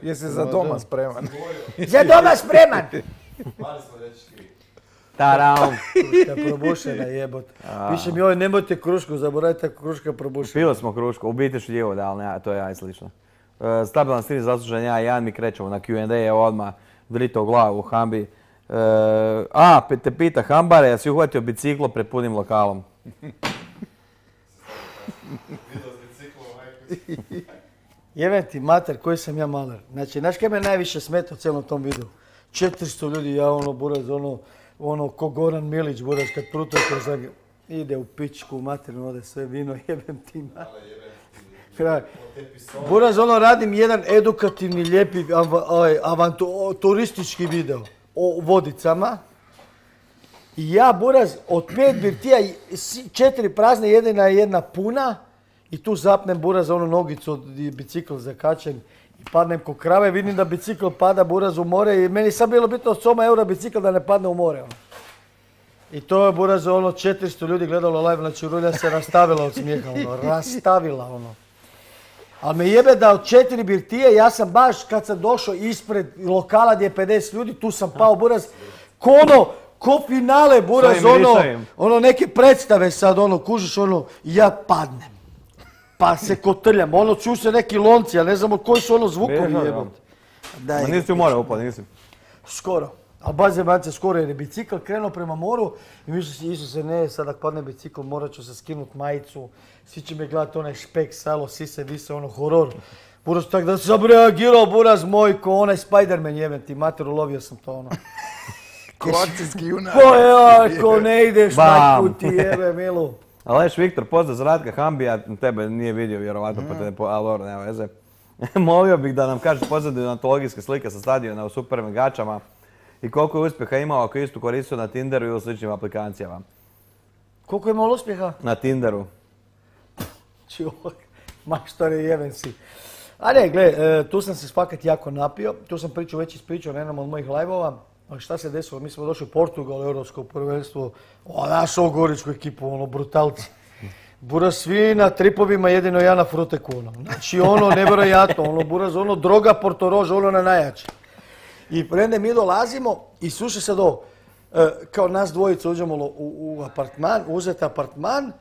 Jesi za doma spreman? Za doma spreman! Taram. Kruška probušena jebot. Piše mi ovo, nemojte krušku, zaboravite kruška probušena. Pili smo krušku, u biti šljivo da, ali to je ja i slično. Stabilan stil zaslužen ja i Jan, mi krećemo na Q&A, evo odmah drito u glavu u Hambi. Te pita Hambare, ja si uhvatio biciklo pred punim lokalom. Jebem ti mater, koji sam ja maler. Znači, znaš kaj me najviše smeta u cijelom tom videu? 400 ljudi, ja buraz, ko Goran Milić, buraz, kad prutuje kroz Zagreb. Ide u pičku, materinu, ode sve vino, jebem ti mater. Buraz, radim jedan edukativni, lijepi, turistički video o vodicama. I ja, buraz, od 5 birtija, 4 prazne, jedna puna. I tu zapnem, buraz, nogicu od bicikl zakačen. I padnem ko krave, vidim da bicikl pada, buraz, u more. I meni sad bilo bitno od €100 bicikl da ne padne u more. I to je, buraz, 400 ljudi gledalo live, znači Rulja se rastavila od smijeha, rastavila, Ali me jebe da od 4 birtije, ja sam baš kad sam došao ispred lokala gdje je 50 ljudi, tu sam pao, buraz, ko finale, buraz, neke predstave sad, kužiš, ja padnem. Pa se kotrljam, čuju se neki lonci, ja ne znam koji su zvukovi jebom. Ma nisi u more upao, nisi? Skoro. Ali baš bance skoro jer je bicikl krenuo prema moru i mislio si, Isuse, ne, sad ako padne bicikl morat ću se skinut majicu, svi će me gledati onaj špek, salo, sise, vise, horor. Buraz, tak da sam reagirao, buraz moj, ko onaj Spider-Man jebem ti, mater, ulovio sam to Ko akcijski junak. Ko ne ideš, majku ti jebe, milu. Aleš Viktor, pozdrav za Ratka Hambija, tebe nije vidio vjerovatno, ali dobro, nema veze. Molio bih da nam kažeš pozadinu antologijske slike sa stadiona u super megačama i koliko je uspjeha imao ako istu koristio na Tinderu i u sličnim aplikacijama. Koliko je imao uspjeha? Na Tinderu. Maštore, jeben si. A ne, gle, tu sam se fakat jako napio, tu sam već ispričao na jednom od mojih live-ova. Šta se desilo? Mi smo došli u Portugal, Europsko prvenstvo, naš Goričku ekipu, brutalci. Buraz, svi na tripovima, jedino ja na fruteku, Znači, nevjerojatno, buraz, droga Portorož, na najjače. I prende mi dolazimo i slušaj sad ovo, kao nas dvojica uđemo u apartman, uzeti apartman,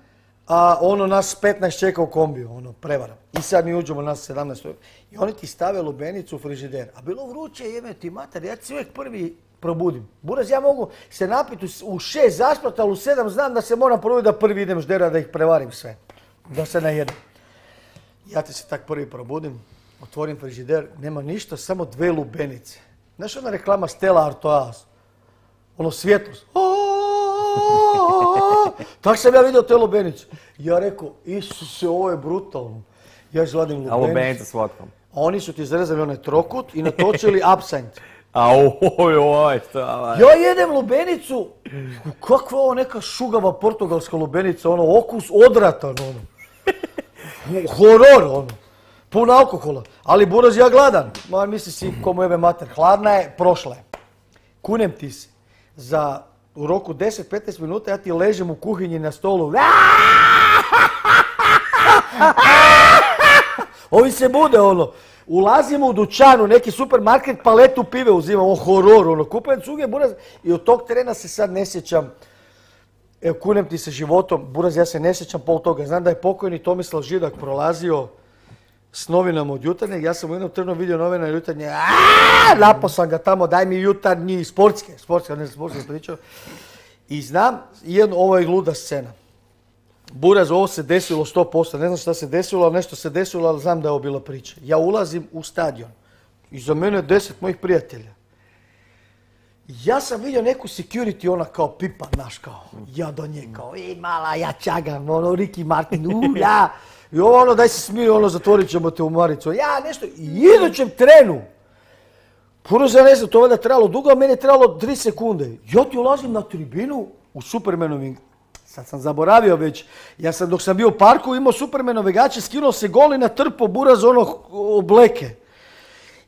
a nas 15 čeka u kombiju, prevara. I sad mi uđemo, nas 17. I oni ti stave lubenicu u frižider. A bilo vruće, jebe ti mater, ja se uvijek prvi probudim. Buraz, ja mogu se napiti u 6 zaspati, ali u 7 znam da se moram probuditi da prvi idem ždera da ih prevarim sve. Da se najedem. Ja ti se tak prvi probudim, otvorim frižider, nema ništa, samo 2 lubenice. Znaš ona reklama Stella Artois? Svjetlost. Tako sam ja vidio te lubenice. Ja rekao, Isuse, ovo je brutalno. Ja izvadim lubenicu. A lubenicu s vodkom? A oni su ti zarezali onaj trokut i natočili absint. Ja jedem lubenicu, kakva ovo neka šugava portugalska lubenica, okus odratan, horor, pun alkohola. Ali buraz, ja gladan. Misli si ko mu jebe mater, hladna je, prošla je. Kunem ti se, u roku 10-15 minuta ja ti ležem u kuhinji na stolu. Ovi se bude, ulazimo u dućanu, neki supermarket, paletu pive uzimam, horor, kupujem cuge, buraz, i od tog trena se sad ne sjećam, evo, kunem ti se životom, buraz, ja se ne sjećam pol toga. Znam da je pokojni Tomislav Židak prolazio s novinama od Jutarnjeg, ja sam u jednom trenu vidio novina Jutarnje, napao sam ga tamo, daj mi Jutarnji, sportske, ne sportske pričao. I znam, ovo je luda scena. Buraz, ovo se desilo 100%, ne znam šta se desilo, ali nešto se desilo, ali znam da je ovo bila priča. Ja ulazim u stadion, iza mene je 10 mojih prijatelja. Ja sam vidio neku security, kao pipa, naš, ja do nje, mala, ja čagam, Ricky Martin, ja. I ovo daj se smiri, zatvorit ćemo te u maricu. Ja nešto, i idućem trenu, buraz, ja ne znam, to valjda trebalo dugo, a meni je trebalo 3 sekunde. Ja ti ulazim na tribinu u Supermanovim. Sad sam zaboravio već, ja sam dok sam bio u parku imao Supermanove gaće, skinuo se gol i natrpao buraz obleke.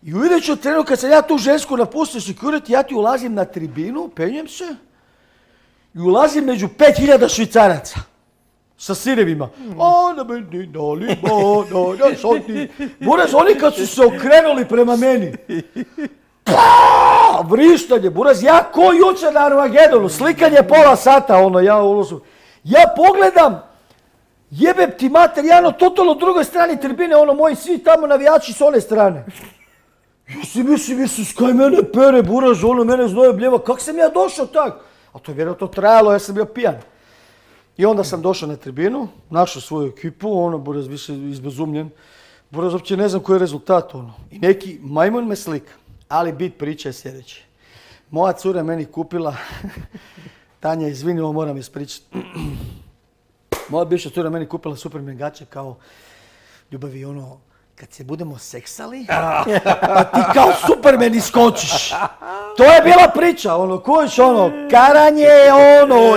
I u idućem trenu kad sam ja tu žensku napustio security, ja ti ulazim na tribinu, penjem se i ulazim među 5000 Švicaraca. sa sirevima. Ona meni dali banana šoti. Buraz, oni kad su se okrenuli prema meni, vrištanje, buraz, ja ko jučer na Armagedonu, slikanje pola sata, ja pogledam, jebem ti mater, ja na totalno drugoj strani tribine, moji svi tamo navijači s one strane. Ja si mislim, Isus, kaj mene pere, buraz, mene znoje bljeva, kak sam ja došao tak? A to je vjerojatno trajalo, ja sam bio pijan. I onda sam došao na tribinu, našao svoju ekipu, buraz, više izbezumljen. Buraz, uopće ne znam koji je rezultat, I neki majmun me slika. Ali bit priče je sljedeće. Moja cura meni kupila, Tanja, izvini, ovo moram ispričati. Moja bivša cura meni kupila Superman gače kao ljubavi, kad se budemo seksali, pa ti kao Superman iskočiš. To je bila priča, kojiš, karanje,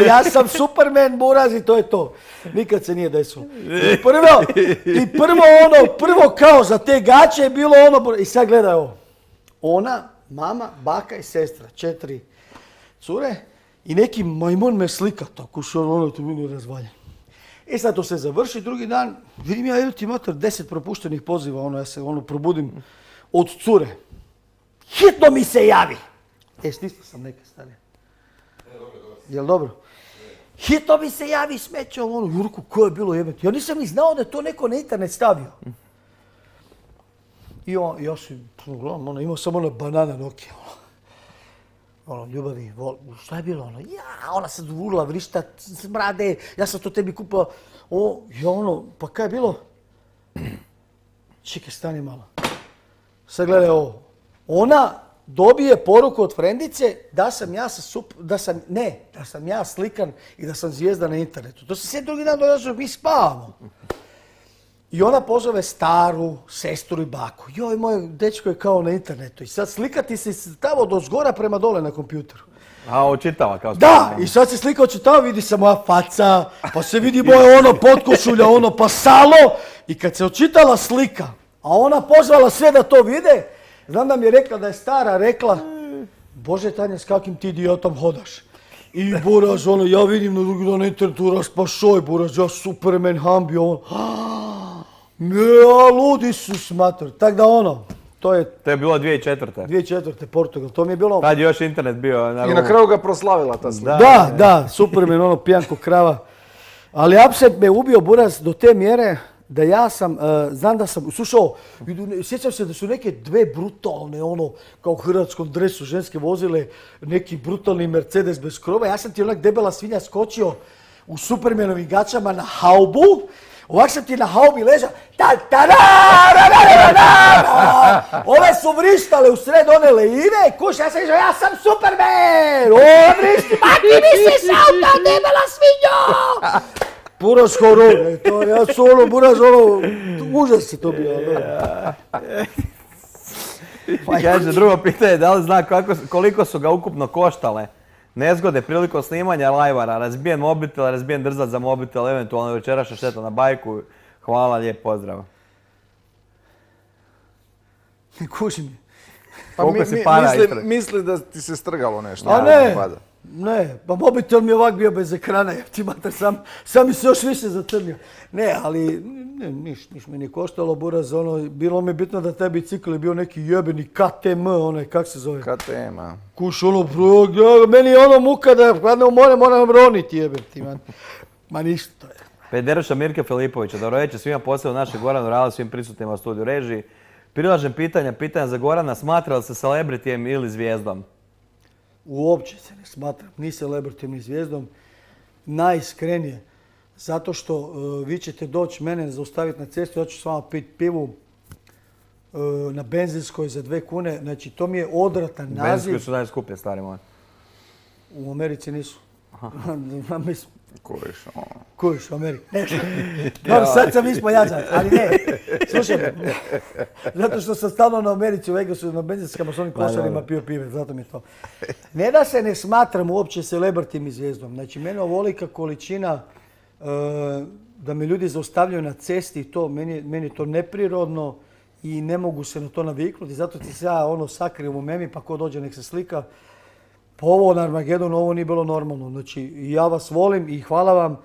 ja sam Superman, buraz, i to je to. Nikad se nije desilo. I prvo kao za te gače je bilo i sad gledaj ovo. Ona, mama, baka i sestra, 4 cure i neki majmun me slika, tako što to mi razvaljen. I sad to se završi, drugi dan, vidim ja, evo ti mater, 10 propuštenih poziva, ja se probudim od cure. Hitno mi se javi! Stisnuo sam neke stane. Jel dobro? Hitno mi se javi, smeće, Jurku, ko je bilo jebati? Ja nisam ni znao da je to neko na internet stavio. I ja si, imao sam banana Nokia, ljubavi, šta je bilo, ona se urla, vrišta, smrade, ja sam to tebi kupila, pa kaj je bilo? Čekaj, stani malo. Sad gledaj ovo, ona dobije poruku od frendice da sam ja slikan i da sam zvijezda na internetu. To se sve drugi dan dođe, mi spavamo. I ona pozove staru sestru i baku. Joj, moj dečko je kao na internetu. I sad slikati se tamo do zgora prema dole na kompjuteru. A, očitava kao Da, i sad se slika očitava, vidi se moja faca, pa se vidi moje potkošulja, pa salo. I kad se očitala slika, a ona pozvala sve da to vide, znam da mi je rekla da je stara rekla, Bože Tanja, s kakvim ti idiotom hodaš? I buraz, ja vidim na drugi dan na internetu, raspašoj, buraz, ja Superman, Hambi, ja, ludi su smater. Tak da to je... To je bilo 2004. 2004. Portugal, to mi je bilo... Tad je još internet bio... I na kraju ga proslavila ta slika. Da, Superman, pijanko krava. Ali apset me ubio, buraz, do te mjere da ja sam, znam da sam, slušao, sjećam se da su neke dve brutalne, kao u hrvatskom dresu ženske vozile, neki brutalni Mercedes bez krova. Ja sam ti onak debela svinja skočio u Supermanovim gačama na haubu. Ovak sam ti na haubi ležao, ove su vrištale u sred one lejine, kuš, ja sam išao, ja sam Superman! Vrišti, ma ti misliš auta, debela svinjo! Buraz horor, ja su buraz, užas je to bio. Kaže, drugo pitanje, da li zna koliko su ga ukupno koštale nezgode prilikom snimanja lajvara, razbijen mobitel, razbijen drzač za mobitel, eventualno večerašnja šteta na bajku. Hvala, lijep pozdrav. Kuži mi. Misli da ti se strgalo nešto. A ne, pa mobitel mi je ovak bio bez ekrana, ti mater, sam mi se još više zacrnio. Ne, ali niš mi nije koštalo, buraz, bilo mi bitno da taj bicikl je bio neki jebeni KTM, kak se zove? KTM, a? Kuš, meni je muka da hladno more moram roniti, jebem ti, man. Ma ništa to je. Pederuša Mirke Filipovića, dobro večer svima, posebno našeg Goranu Rala, svim prisutnima u studiju režiji. Prilažem pitanja za Gorana, smatra li se celebritijem ili zvijezdom? Uopće se ne smatram ni celebritijem ni zvijezdom. Najiskrenije. Zato što vi ćete doći mene zaustaviti na cestu, ja ću s vama piti pivu na benzinskoj za 2 kune. Znači, to mi je odvratan naziv. Benzinskoj su najskuplje, stari moj. U Americi nisu. Kuriš u Americi. Sad sam ispojazan, ali ne. Slušaj, zato što sam stalno na Americi u Vegasu na benzinskama s onim košarima pio pive, zato mi je to. Ne da se ne smatram uopće celebritim i zvijezdom. Znači, mene ovolika količina da me ljudi zaustavljaju na cesti i to, meni je to neprirodno i ne mogu se na to naviknuti. Zato ti se ja sakrijem u memi pa ko dođe nek se slika. Pa ovo na Armagedonu, ovo nije bilo normalno. Znači, ja vas volim i hvala vam,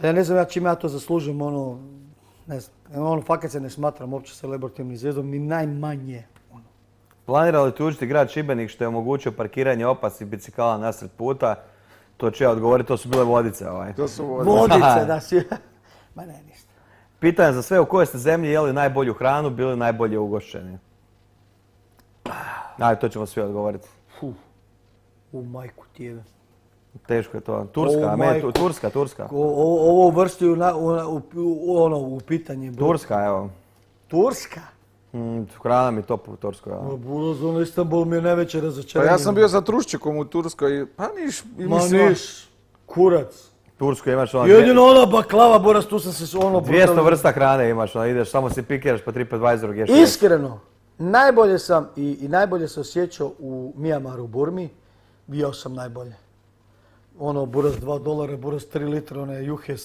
Ja ne znam ja čime ja to zaslužujem, ono, ne znam, ono, fakat se ne smatram uopće celebritivnim zvijezdom, ni najmanje. Planira li tužiti grad Šibenik što je omogućio parkiranje opasnih bicikala nasred puta? To ću ja odgovoriti, to su bile Vodice. To su vodice. Vodice, da si... Ma ne, ništa. Pitanje za sve, u kojoj ste zemlji jeli najbolju hranu, bili najbolje ugošćeni? Ajde, to ćemo svi odgovoriti. U majku tijeve. Teško je to. Turska, Turska. Ovo uvrstio u pitanje. Turska, evo. Turska? Hrana mi top u Turskoj. Ono Istanbul mi je najveće Pa razočaranje. ja sam bio za Truščikom u Turskoj, pa niš. Ma niš, kurac. Tursku imaš ono... Jedino ona baklava, Boras, tu sam se ono... 200 vrsta hrane imaš, ono, ideš, samo si pikiraš pa TripAdvisoru gdje što. Iskreno, najbolje sam i najbolje se osjećao u Mijamaru, Burmi. Bio sam najbolje. Ono, Buras $2, Buras 3 litra, one juhe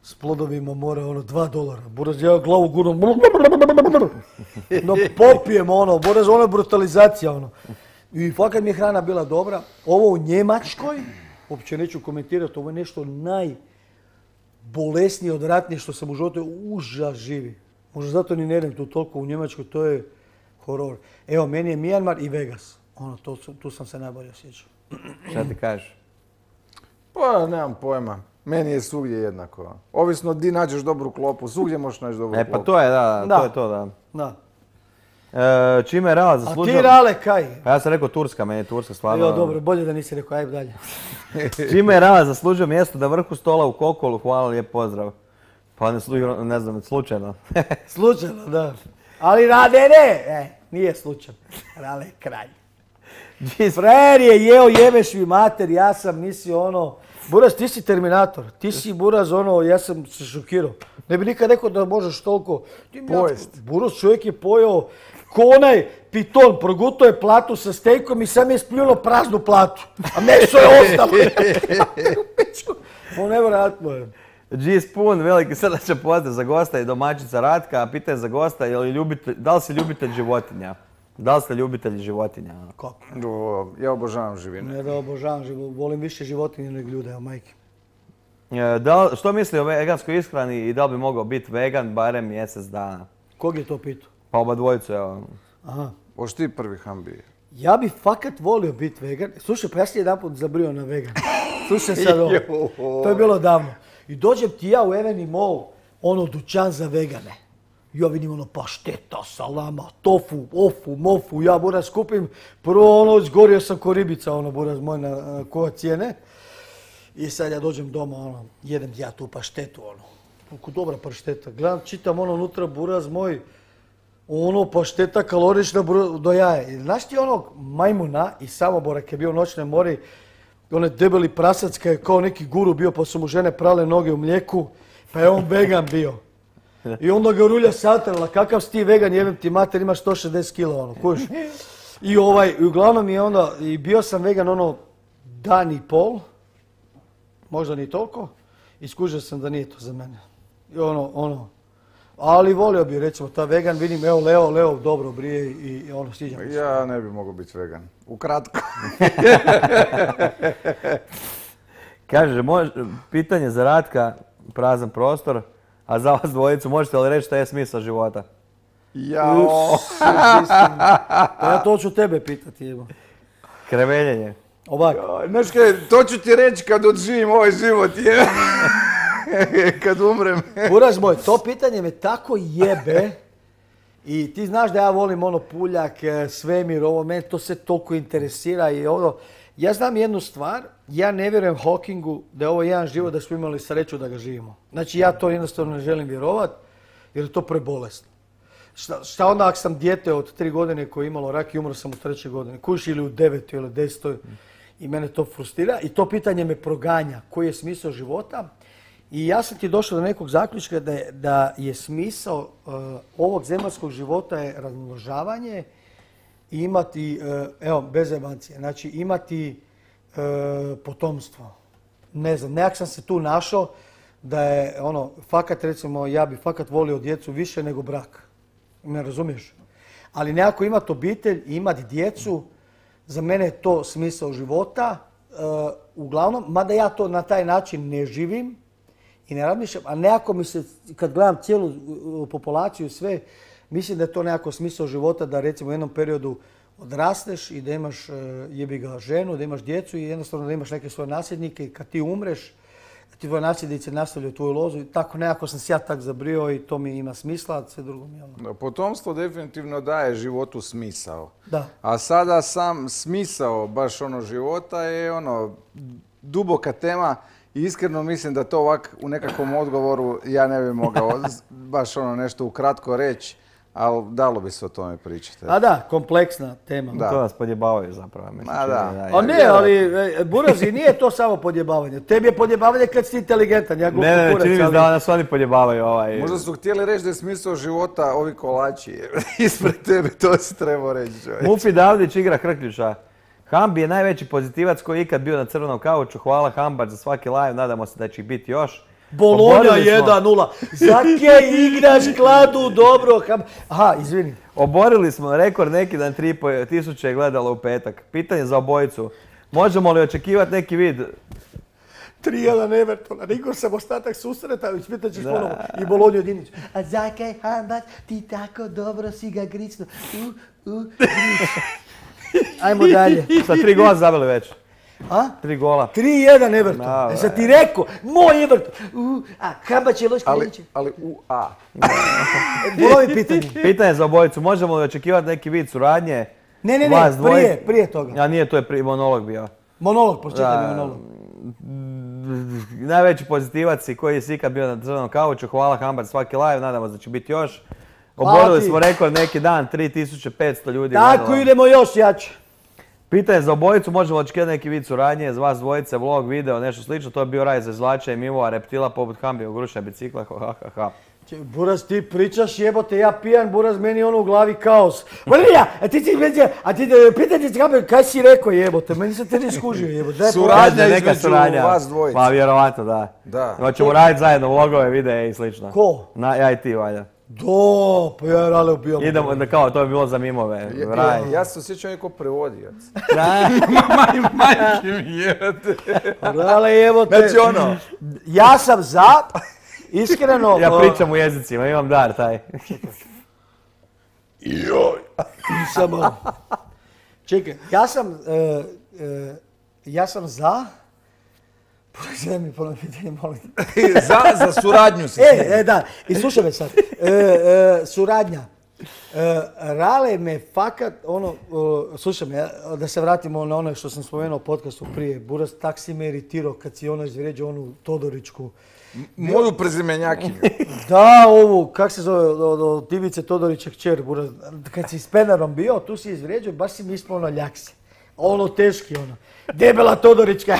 s plodovima mora, ono, $2. Buras, ja glavu guram, no popijem, ono, Buras, ono je brutalizacija, ono. I fakat mi je hrana bila dobra. Ovo u Njemačkoj, uopće neću komentirati, ovo je nešto najbolesnije, odvratnije što sam u životu, užas živi. Možda zato ni ne idem tu toliko u Njemačkoj, to je horor. Evo, meni je Myanmar i Vegas. Ono, tu sam se najbolje osjećao. Šta ti kažeš? Pa nemam pojma. Meni je svugdje jednako. Ovisno di nađeš dobru klopu, svugdje možeš naći dobru klopu. Pa to je, da, to je to, da. Da. Čime je Rale zaslužio... A ti Rale, kaj? Pa ja sam rekao Turska, meni je Turska stvarno... Jo, dobro, bolje da nisi rekao, ajde dalje. Čime je Rale zaslužio mjesto na vrhu stola u Kokolu, hvala, lijep pozdrav. Pa ne znam, slučajno. Slučajno, da. Ali Rade ne, nije slučajno. Rale je kralj. Frajer je jeo, jebeš mi mater, ja sam mislio ono... Buraz, ti si Terminator, ti si Buraz ono, ja sam se šokirao. Ne bi nikad rekao da možeš toliko... Pojest. Buraz čovjek je pojeo ko onaj piton, progutao je platu sa stejkom i sam je spljunuo praznu platu. A meso je ostalo. Ovo nevjerojatno je. G-Spoon, veliki srdačan pozdrav za gosta i domaćica Ratka. Pitanje za gosta, da li si ljubitelj životinja? Da li ste ljubitelji životinja? Kako? Ja obožavam živine. Ne da obožavam životinje, volim više životinje nego ljude, evo majke. Što misli o veganskoj ishrani i da li bi mogao biti vegan barem mjesec dana? Kog je to pitao? Pa oba dvojicu, evo. Aha. Oš ti prvi Hambi? Ja bi fakat volio biti vegan. Slušaj, pa ja sam jedanput zabrio na vegan. Slušaj sad ovo. To je bilo davno. I dođem ti ja u Eveni Mall, ono dućan za vegane. Ja vidim ono pašteta, salama, tofu, ofu, mofu, ja Buraz skupim. Prvo ono, izgorio sam ko ribica, ono Buraz moj na koja cijene. I sad ja dođem doma, ono, jedem ja tu paštetu, ono. Kako dobra pašteta. Gledam, čitam ono unutra, Buraz moj, ono pašteta kalorična do jaja. Znaš ti onog majmuna i Samobora kad je bio u Noćnoj mori, onaj debeli prasac kad je kao neki guru bio pa su mu žene prale noge u mlijeku, pa je on vegan bio. I onda ga rulja satrala, kakav si ti vegan, jebem ti mater, imaš 160 kila, ono, kuš. I uglavnom je onda, i bio sam vegan ono dan i pol, možda ni toliko, i skužio sam da nije to za mene. I ali volio bi recimo ta vegan, vidim, evo Leo dobro brije i ono, sviđa mi se. Ja ne bi mogao biti vegan. Ukratko. Kaže, pitanje za Ratka, prazan prostor, a za vas dvojicu možete li reći šta je smisao života? Jao. Pa ja to ću tebe pitati, evo. Kreveljenje. Ovako. Znaš kaj, to ću ti reći kad odživim ovaj život, je. Kad umrem. Buraz moj, to pitanje me tako jebe i ti znaš da ja volim ono Puljak, svemir, ovo, mene to se toliko interesira i ono. Ja znam jednu stvar, ja ne vjerujem Hawkingu da je ovo jedan život da smo imali sreću da ga živimo. Znači ja to jednostavno ne želim vjerovat jer je to prebolesno. Šta onda ako sam dijete od 3 godine koje je imalo rak i umro sam u 3. godini, kuš ili u 9. ili 10. i mene to frustrira i to pitanje me proganja koji je smisao života. I ja sam ti došao do nekog zaključka da je smisao ovog zemaljskog života je razmnožavanje i imati, evo, bez evancije, znači imati potomstvo. Ne znam, nekak sam se tu našao da je ono, fakat recimo, ja bi fakat volio djecu više nego brak. Me razumiješ? Ali nekako imati obitelj i imati djecu, za mene je to smisao života. Uglavnom, mada ja to na taj način ne živim, I ne razmišljam, a nekako mi se, kad gledam cijelu populaciju i sve, mislim da je to nekako smisao života da recimo u jednom periodu odrasteš i da imaš jebi ga ženu, da imaš djecu i jednostavno da imaš neke svoje nasljednike i kad ti umreš, ti tvoje nasljednici nastavljaju tvoju lozu i tako nekako sam se ja tak zabrio i to mi ima smisla, a sve drugo mi je ono. Potomstvo definitivno daje životu smisao. Da. A sada sam smisao baš ono života je ono duboka tema i iskreno mislim da to ovak u nekakvom odgovoru ja ne bi mogao baš ono nešto ukratko reći, ali dalo bi se o tome pričati. A da, kompleksna tema. Da. To nas podjebavaju zapravo. Mislim, Ma da. A ne, ali Burazi, nije to samo podjebavanje. Tebi je podjebavanje kad si inteligentan. Ja Ne, čini mi se da nas oni podjebavaju Možda su htjeli reći da je smisao života ovi kolači. Ispred tebe, to si trebao reći. Mufi Davdić igra Hrkljuša. Hambi je najveći pozitivac koji je ikad bio na crvenom kauču. Hvala Hambač za svaki live, nadamo se da će ih biti još. Bolonja 1-0. Zake igraš kladu dobro. Aha, izvini. Oborili smo rekord neki dan 3.500 je gledalo u petak. Pitanje za obojicu. Možemo li očekivati neki vid? 3-1 Evertona. Niko sam ostatak susreta, ispitat ćeš ponovo. I Bolonju jedinić. A Zake Hambač, ti tako dobro si ga gricno. Ajmo dalje. Sa 3 gola zabili već. A? 3 gola. 3-1 Everton. Sam ti rekao, moj Everton. A Hambač je loš krenuće. Ali u A. Bolovi pitanje. Pitanje za obojicu. Možemo li očekivati neki vid suradnje? Ne, prije toga. A nije, to je monolog bio. Monolog, pročitaj mi monolog. Najveći pozitivac i koji si ikad bio na crvenom kauču. Hvala Hambač svaki live, nadamo se da će biti još. Oborili smo rekord neki dan, 3500 ljudi. Tako, idemo još jače. Pitanje za obojicu, možemo očekivati neki vid suradnje, za vas dvojice, vlog, video, nešto slično. To je bio raj za izvlačenje mimova, reptila poput Hambija, grušne bicikla, ha. Buraz, ti pričaš jebote, ja pijan, Buraz, meni ono u glavi kaos. Valija, a ti pitanje se Hambija, kaj si rekao jebote, meni se te ne skužio jebote. Suradnja između vas dvojice. Pa vjerovatno, da. Hoćemo raditi zajedno vlogove, videe i slično. Ko? Ja i ti, valja. Pa ja rale ubijam. Idemo, kao to je bilo za mimove. Ja se osjećam neko prevodioc. Majke mi jebote. Rale jebote. Znači ono. Ja sam za, iskreno. Ja pričam u jezicima, imam dar taj. Joj. Samo. Čekaj, ja sam za. Pogled mi ponovno pitanje, molim. Za suradnju si. Da, i slušaj me sad. Suradnja. Rale me fakat, slušaj me, da se vratimo na ono što sam spomenuo u podcastu prije. Buraz, tak si me iritirao kad si izvrijeđao onu Todoričku. Moju prezimenjakinju. Da, ovu, kak se zove, od Ivice Todorića kćer, Buraz. Kad si s Penarom bio, tu si izvrijeđao, baš si mi ispao na ljaksi. Ono teški, debela Todorička.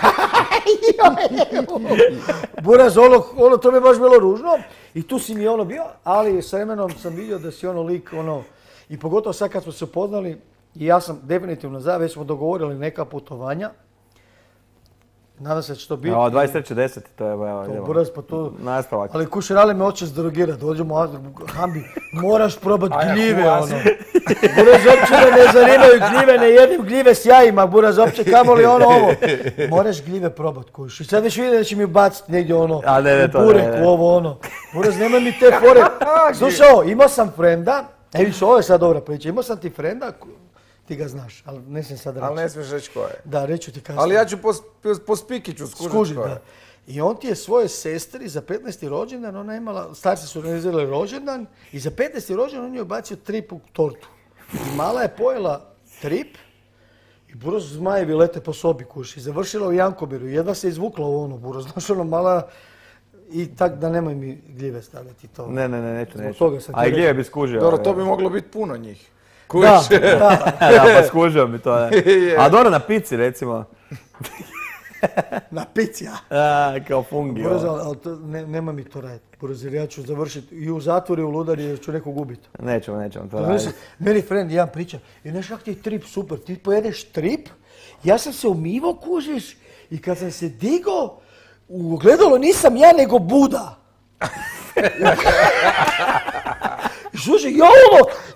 Buraz, to mi je baš bilo ružno. I tu si mi bio, ali s vremenom sam vidio da si lik, i pogotovo sad kad smo se upoznali, i ja sam definitivno za, već smo dogovorili neka putovanja. Nadam se da će to biti. 23.10. to je, to Buraz, pa to... Nastavak. Ali Kušerale me hoće zdrogirati, dođemo Hambi, moraš probat gljive, Buraz, uopće me ne zanimaju gljive, ne jedim gljive s jajima, Buraz, uopće kamoli ovo. Moraš gljive probat, kuš. I sad već vidim da će mi baciti negdje u burek, Buraz, nemoj mi te fore. Slušaj, imao sam frenda, vidiš, ovo je sad dobra priča, imao sam ti frenda, ti ga znaš, ali ne smijem sad reći. Ali ne smiješ reći ko je. Da, reću ti kasnije. Ali ja ću po spikiću skužiti ko je. Da. I on ti je svoje sestri za 15. rođendan, ona je imala, starci su organizirali rođendan i za 15. rođendan on je bacio trip u tortu. I mala je pojela trip i Buraz, zmajevi lete po sobi kuš. I završila u Jankobiru. Jedva se izvukla u Buraz, znaš mala... I tak da nemoj mi gljive stavljati to. Ne, neću. A i gljive bi skužio. Dobro, to bi moglo biti puno njih. Da, pa skužio bi to. A dobro, na pici recimo. Na pici, ja. Kao fungi. Buraz, ali nema mi to raditi. Buraz, jer ja ću završiti i u zatvoru i u ludari jer ću nekog ubiti. Nećemo to raditi. Meni friend jedan priča, i znaš kak ti je trip super, ti pojedeš trip, ja sam se umivo kužiš i kad sam se digao, u ogledalo nisam ja nego Buda. Slušaj,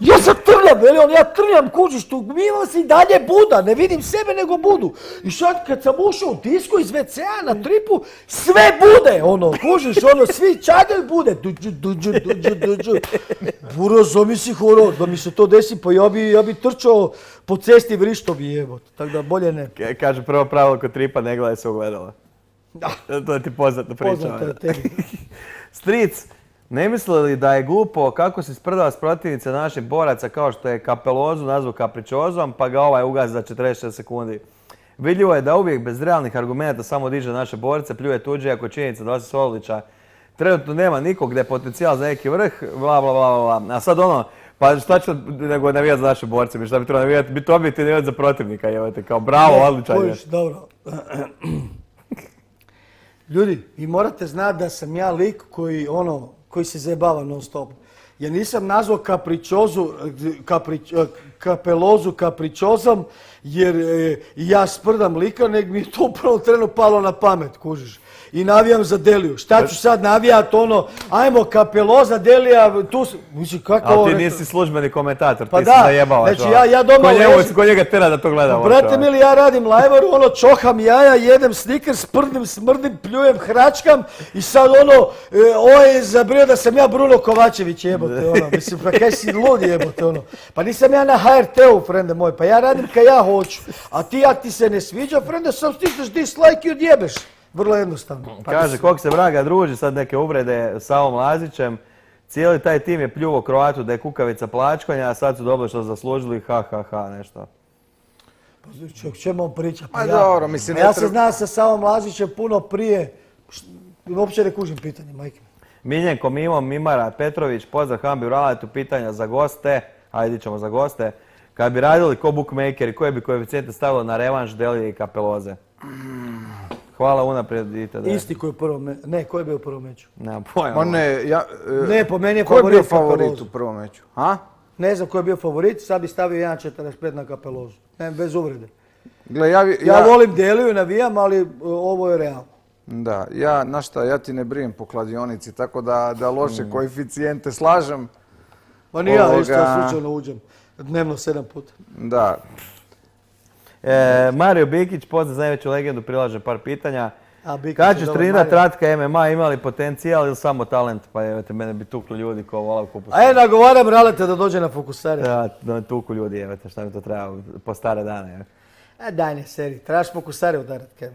ja sam trljam, veli on, ja trljam, kužiš, tu imam se i dalje Buda, ne vidim sebe nego Budu. I sad kad sam ušao u disku iz WC-a na tripu, sve bude, kužiš, svi čagaju bude. Duđu. Buro, zamisli horor, da mi se to desi, pa ja bi trčao po cesti vrišto bi jebote, tako da bolje ne. Kaže prvo pravilo kod tripa, ne gledaj se ogledala. To je ti poznata priča. Poznato je tebi. Stric, ne misli li da je glupo kako si sprdala s protivnice naših boraca kao što je Capelozu nazvao kapričozom, pa ga ovaj ugazi za 46 sekundi? Vidljivo je da uvijek bez realnih argumenta samo diže naše borce, pljuje tuđe, ako činjenica da Osis Orlića trenutno nema nikog gdje je potencijal za neki vrh, bla bla bla bla. A sad pa šta ću nego navijati za naše borce, mi šta bi trebalo navijati, biti objektivni navijati za protivnika, jevate, kao bravo, odličan je. Dobro. Ljudi, vi morate znati da sam ja lik koji se zajebava non stop. Ja nisam nazvao Capelozu kapričozom jer ja sprdam lika, nego mi je to u prvom trenu palo na pamet, kužiš. I navijam za Deliju. Šta ću sad navijat ajmo Capeloza, Delija, tu mislim kako ali ti nisi službeni komentator, pa ti si zajebavaš. Znači ja doma ležim. Ko njega tera da to gleda? Brate mili, ja radim lajvaru, čoham jaja, jedem Snickers, sprdim, smrdim, pljujem, hračkam i sad je zabrio da sam ja Bruno Kovačević, jebote, mislim, pa kaj si lud, jebote, Pa nisam ja na HRT-u, frende moj, pa ja radim kaj ja hoću, a ti jak ti se ne sviđa, frende, sam stisneš dislike i odjebeš. Vrlo jednostavno. Kaže, kog se vraga druži, sad neke uvrede s Savom Lazićem. Cijeli taj tim je pljuvo Kroatu da je kukavica plačkanja, a sad su dobro što zaslužili, nešto. Pa o čemu on priča? Pa dobro, mislim... Ja se znam sa Savom Lazićem puno prije, uopće ne kužim pitanje, majke. Miljenko Mimo Mimara Petrović, pozdrav Hambi u Raletu, pitanja za goste, ajde ćemo za goste. Kad bi radili ko bookmakeri, koje bi koeficijente stavilo na revanš Delije i Capeloze? Hvala unaprijed. Isti koji je u prvom meču. Ne, ko je bio u prvom meču? Nemam pojma. Ne, po meni je favorit. Ko je bio favorit u prvom meču? Ne znam ko je bio favorit, sad bi stavio 1.45 na Capelozu. Ne, bez uvrede. Gle, ja volim Deliju i navijam, ali ovo je realno. Da, ja ti ne brijem po kladionici, tako da loše koeficijente slažem. Ma ni ja isto slučajno uđem. Dnevno 7 puta. Da. Mario Bikić, pozdrav za najveću legendu, prilaže par pitanja. Kad ćeš trenirati Ratka MMA, ima li potencijal ili samo talent? Pa evete, mene bi tukli ljudi ko vola kupus. Nagovaram Raleta da dođe na Fokusare. Da me tuku ljudi, evete, šta mi to treba po stare dane. Daj ne, seri, trebaš Fokusare udarati.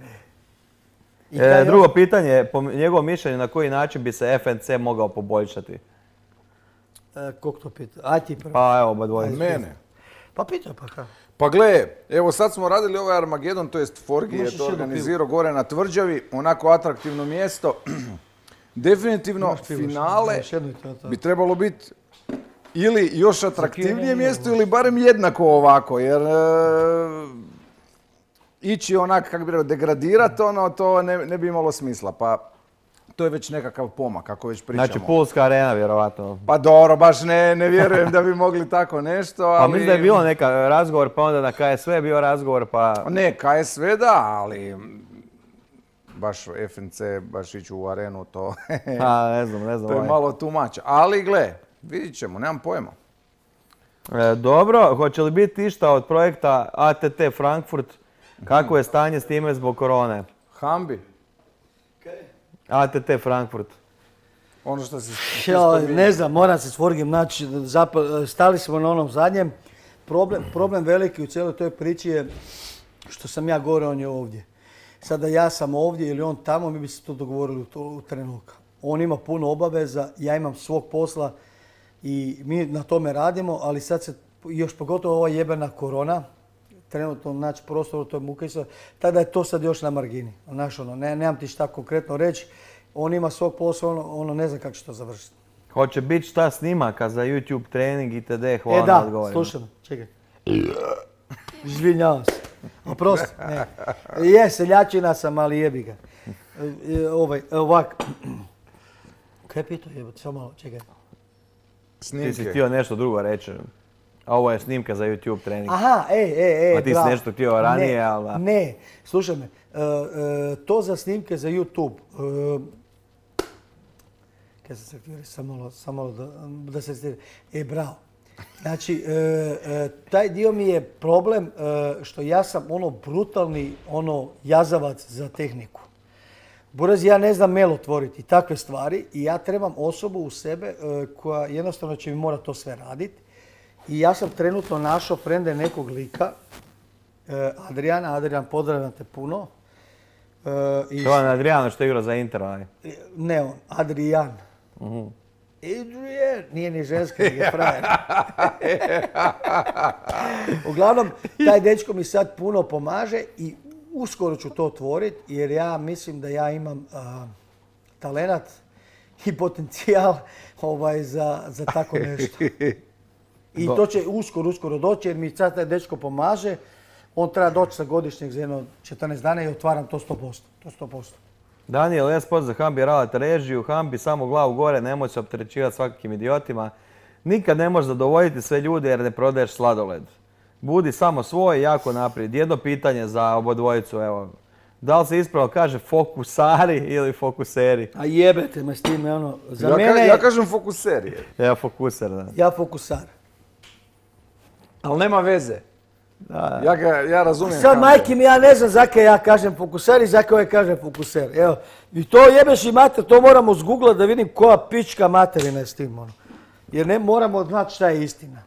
Drugo pitanje, po njegovom mišljenju, na koji način bi se FNC mogao poboljšati? Kog to pita? Aj ti prvo. Pa evo, oba dvoje. Mene. Pa pita pa kako. Pa gle, evo sad smo radili ovaj Armagedon, to jest Forgi je to organizirao gore na Tvrđavi, onako atraktivno mjesto. Definitivno finale bi trebalo biti ili još atraktivnije mjesto ili barem jednako ovako, jer ići onak, kako bi rekao, degradirati to ne bi imalo smisla. Pa to je već nekakav pomak, kako već pričamo. Znači Pulska arena, vjerovatno. Pa dobro, baš ne vjerujem da bi mogli tako nešto, ali... Pa mislim da je bilo neka razgovor, pa onda na KSV je bio razgovor, pa... Ne, KSV da, ali... Baš FNC, baš ići u arenu, to... ne znam. To je malo tumač. Ali gle, vidit ćemo, nemam pojma. Dobro, hoće li biti išta od projekta ATT Frankfurt? Kako je stanje s time zbog korone? Hambi. ATT Frankfurt. Ono što se spominje. Ne znam, moram se s Forgim naći. Stali smo na onom zadnjem. Problem veliki u cijeloj toj priči je što sam ja gore, on je ovdje. Sada ja sam ovdje ili on tamo, mi bi se to dogovorili u trenutku. On ima puno obaveza, ja imam svog posla i mi na tome radimo, ali sad se još pogotovo ova jebena korona, trenutno naći prostor u toj Mukejsa, tada je to sad još na margini. Nemam ti šta konkretno reći, on ima svog posla, ne znam kako će to završiti. Hoće biti šta snimaka za YouTube trening itd. Hvala na odgovorima. Slušam, čekaj. Izvinjavam se. Oprosti, ne. Je, seljačina sam, ali jebi ga. Ovak. Kaj je pitao jebati, samo malo, čekaj. Ti si htio nešto drugo reći. A ovo je snimka za YouTube trening. Aha, a ti si nešto htio ranije, ali... Ne, slušaj me. To za snimke za YouTube. Kaj sam se htio reći, samo malo da se stiri. Bravo. Znači, taj dio mi je problem što ja sam brutalni jazavac za tehniku. Buraz, ja ne znam mail otvoriti, takve stvari i ja trebam osobu u sebe koja jednostavno će mi morati to sve raditi. I ja sam trenutno našao frende nekog lika, Adriana. Adrian, pozdravljam te puno. To je Adriano što igra za Inter, Ne on, Adrian. Adrian, nije ni ženski, nego je frajer. Uglavnom, taj dečko mi sad puno pomaže i uskoro ću to otvoriti jer ja mislim da ja imam talenat i potencijal za tako nešto. I to će uskoro doći jer mi sad taj dečko pomaže. On treba doći sa godišnjeg za jedno 14 dana i otvaram to 100%. To 100%. Daniel, ja spod za Hambi ralate režiju, Hambi samo glavu gore, nemoj se opterećivati svakakvim idiotima. Nikad ne možeš zadovoljiti sve ljude jer ne prodaješ sladoled. Budi samo svoj, jako naprijed. Jedno pitanje za obodvojicu, evo. Da li se ispravno kaže fokusari ili fokuseri? A jebete me s time, za mene... Ja kažem fokuseri. Ja fokuser, da. Ja fokusar. Ali nema veze. Da. Ja razumijem. Sad, majke mi, ja ne znam zakaj ja kažem fokuser i zakaj ovaj kaže fokuser. Evo, i to jebeš i mater, to moramo zgooglat da vidim koja pička materina je s tim, Jer ne moramo znati šta je istina.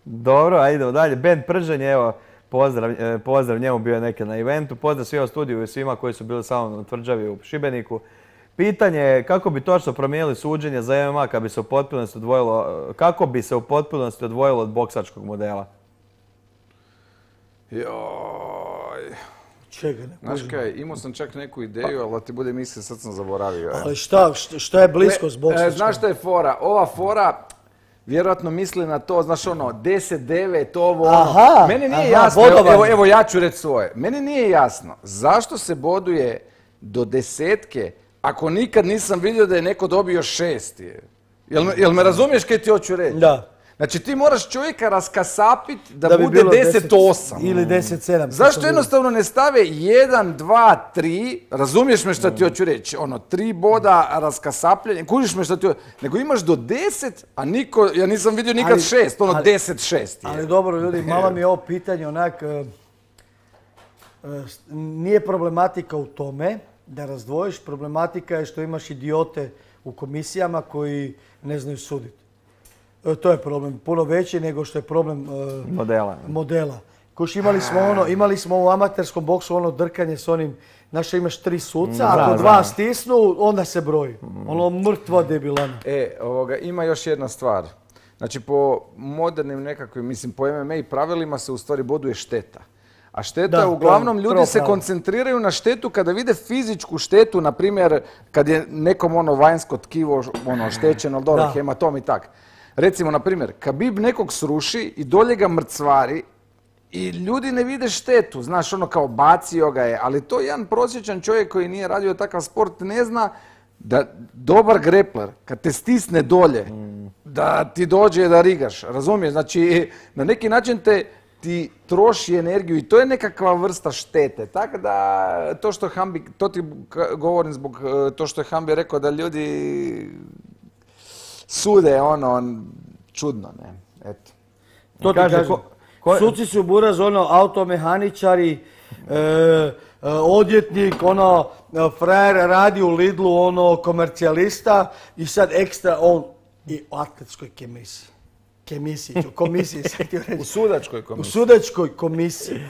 Dobro, a idemo dalje. Ben Pržen, evo, pozdrav njemu, bio je neke na eventu. Pozdrav svima u studiju i svima koji su bili samo na tvrđavi u Šibeniku. Pitanje je kako bi točno promijenili suđenje za MMA kako bi se u potpunosti odvojilo od boksačkog modela? Joj. Čega ne? Znaš kaj, imao sam čak neku ideju, ali da ti bude misli, sad sam zaboravio. Ali šta je blisko s boksačkom? Znaš šta je fora? Ova fora vjerojatno misli na to, znaš 10-9, ovo ono. Meni nije jasno, evo ja ću reći svoje. Meni nije jasno zašto se boduje do 10 ako nikad nisam vidio da je neko dobio 6. Jel me razumiješ kaj ti hoću reći? Da. Znači ti moraš čovjeka raskasapiti da bude 10-8. Ili 10-7. Zašto jednostavno ne stave 1, 2, 3, razumiješ me šta ti hoću reći, 3 boda raskasapljanje, kužiš me šta ti hoću, nego imaš do 10, a niko, ja nisam vidio nikad 6, 10-6. Ali dobro ljudi, malo mi je ovo pitanje onak, nije problematika u tome da razdvojiš, problematika je što imaš idiote u komisijama koji ne znaju suditi. To je problem puno veći nego što je problem modela. Koš imali smo u amaterskom boksu drkanje s onim, znaš imaš 3 suca, ako 2 stisnu, onda se broji. Mrtva debilana. Ima još jedna stvar. Znači po modernim nekakvim, mislim po MMA pravilima se u stvari boduje šteta. A šteta, uglavnom ljudi se koncentriraju na štetu kada vide fizičku štetu, na primjer kad je nekom vanjsko tkivo oštećeno, dobro, hematom i tak. Recimo, na primjer, Khabib nekog sruši i dolje ga mrcvari i ljudi ne vide štetu, znaš, kao bacio ga je, ali to jedan prosječan čovjek koji nije radio takav sport ne zna da dobar grepler, kad te stisne dolje, da ti dođe da rigaš, razumiješ? Znači, na neki način ti troši energiju i to je nekakva vrsta štete. Tako da, to ti govorim zbog to što je Hambi rekao da ljudi sude čudno, ne, eto. To ti kažem, suci su buraz, automehaničari, odjetnik, frajer radi u Lidlu, komercijalista i sad ekstra on i u atletskoj komisiji, sad ti reći. U sudačkoj komisiji. U sudačkoj komisiji.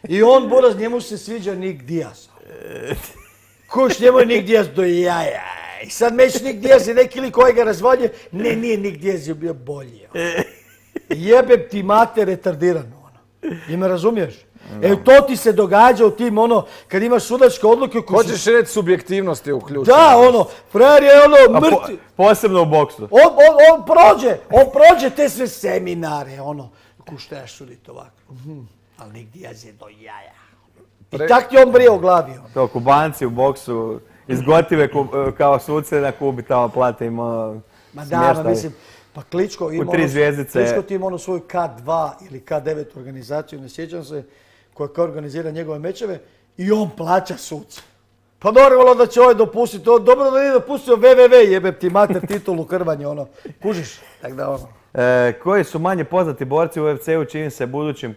I on, buraz, njemu se sviđa Nick Diaz. Koš, njemu je Nick Diaz do jaja. I sad meć Nick Diaz je neki lik koji ga razvalje. Ne, nije Nick Diaz je bio bolji. Jebem ti mater retardirano. I me razumiješ? To ti se događa u tim, kad imaš sudačke odluke... Hoćeš reći subjektivnost je uključena. Da, frajer je mrtvi. Posebno u boksu. On prođe te sve seminare, kuš trebaš suditi ovako. Ali Nick Diaz je do jaja. I tak ti on brije u glavi. To Kubanci u boksu iz Gotive kao suce na Kubi tamo plate im smještaj. Mislim, pa Kličko ima ti ima svoju K2 ili K9 organizaciju, ne sjećam se, koja organizira njegove mečeve i on plaća suce. Pa normalno da će ovaj dopustiti, dobro da nije dopustio WWW, jebem ti mater titulu krvanje, ono, kužiš, tak da ono. Koji su manje poznati borci u UFC-u čini se budućim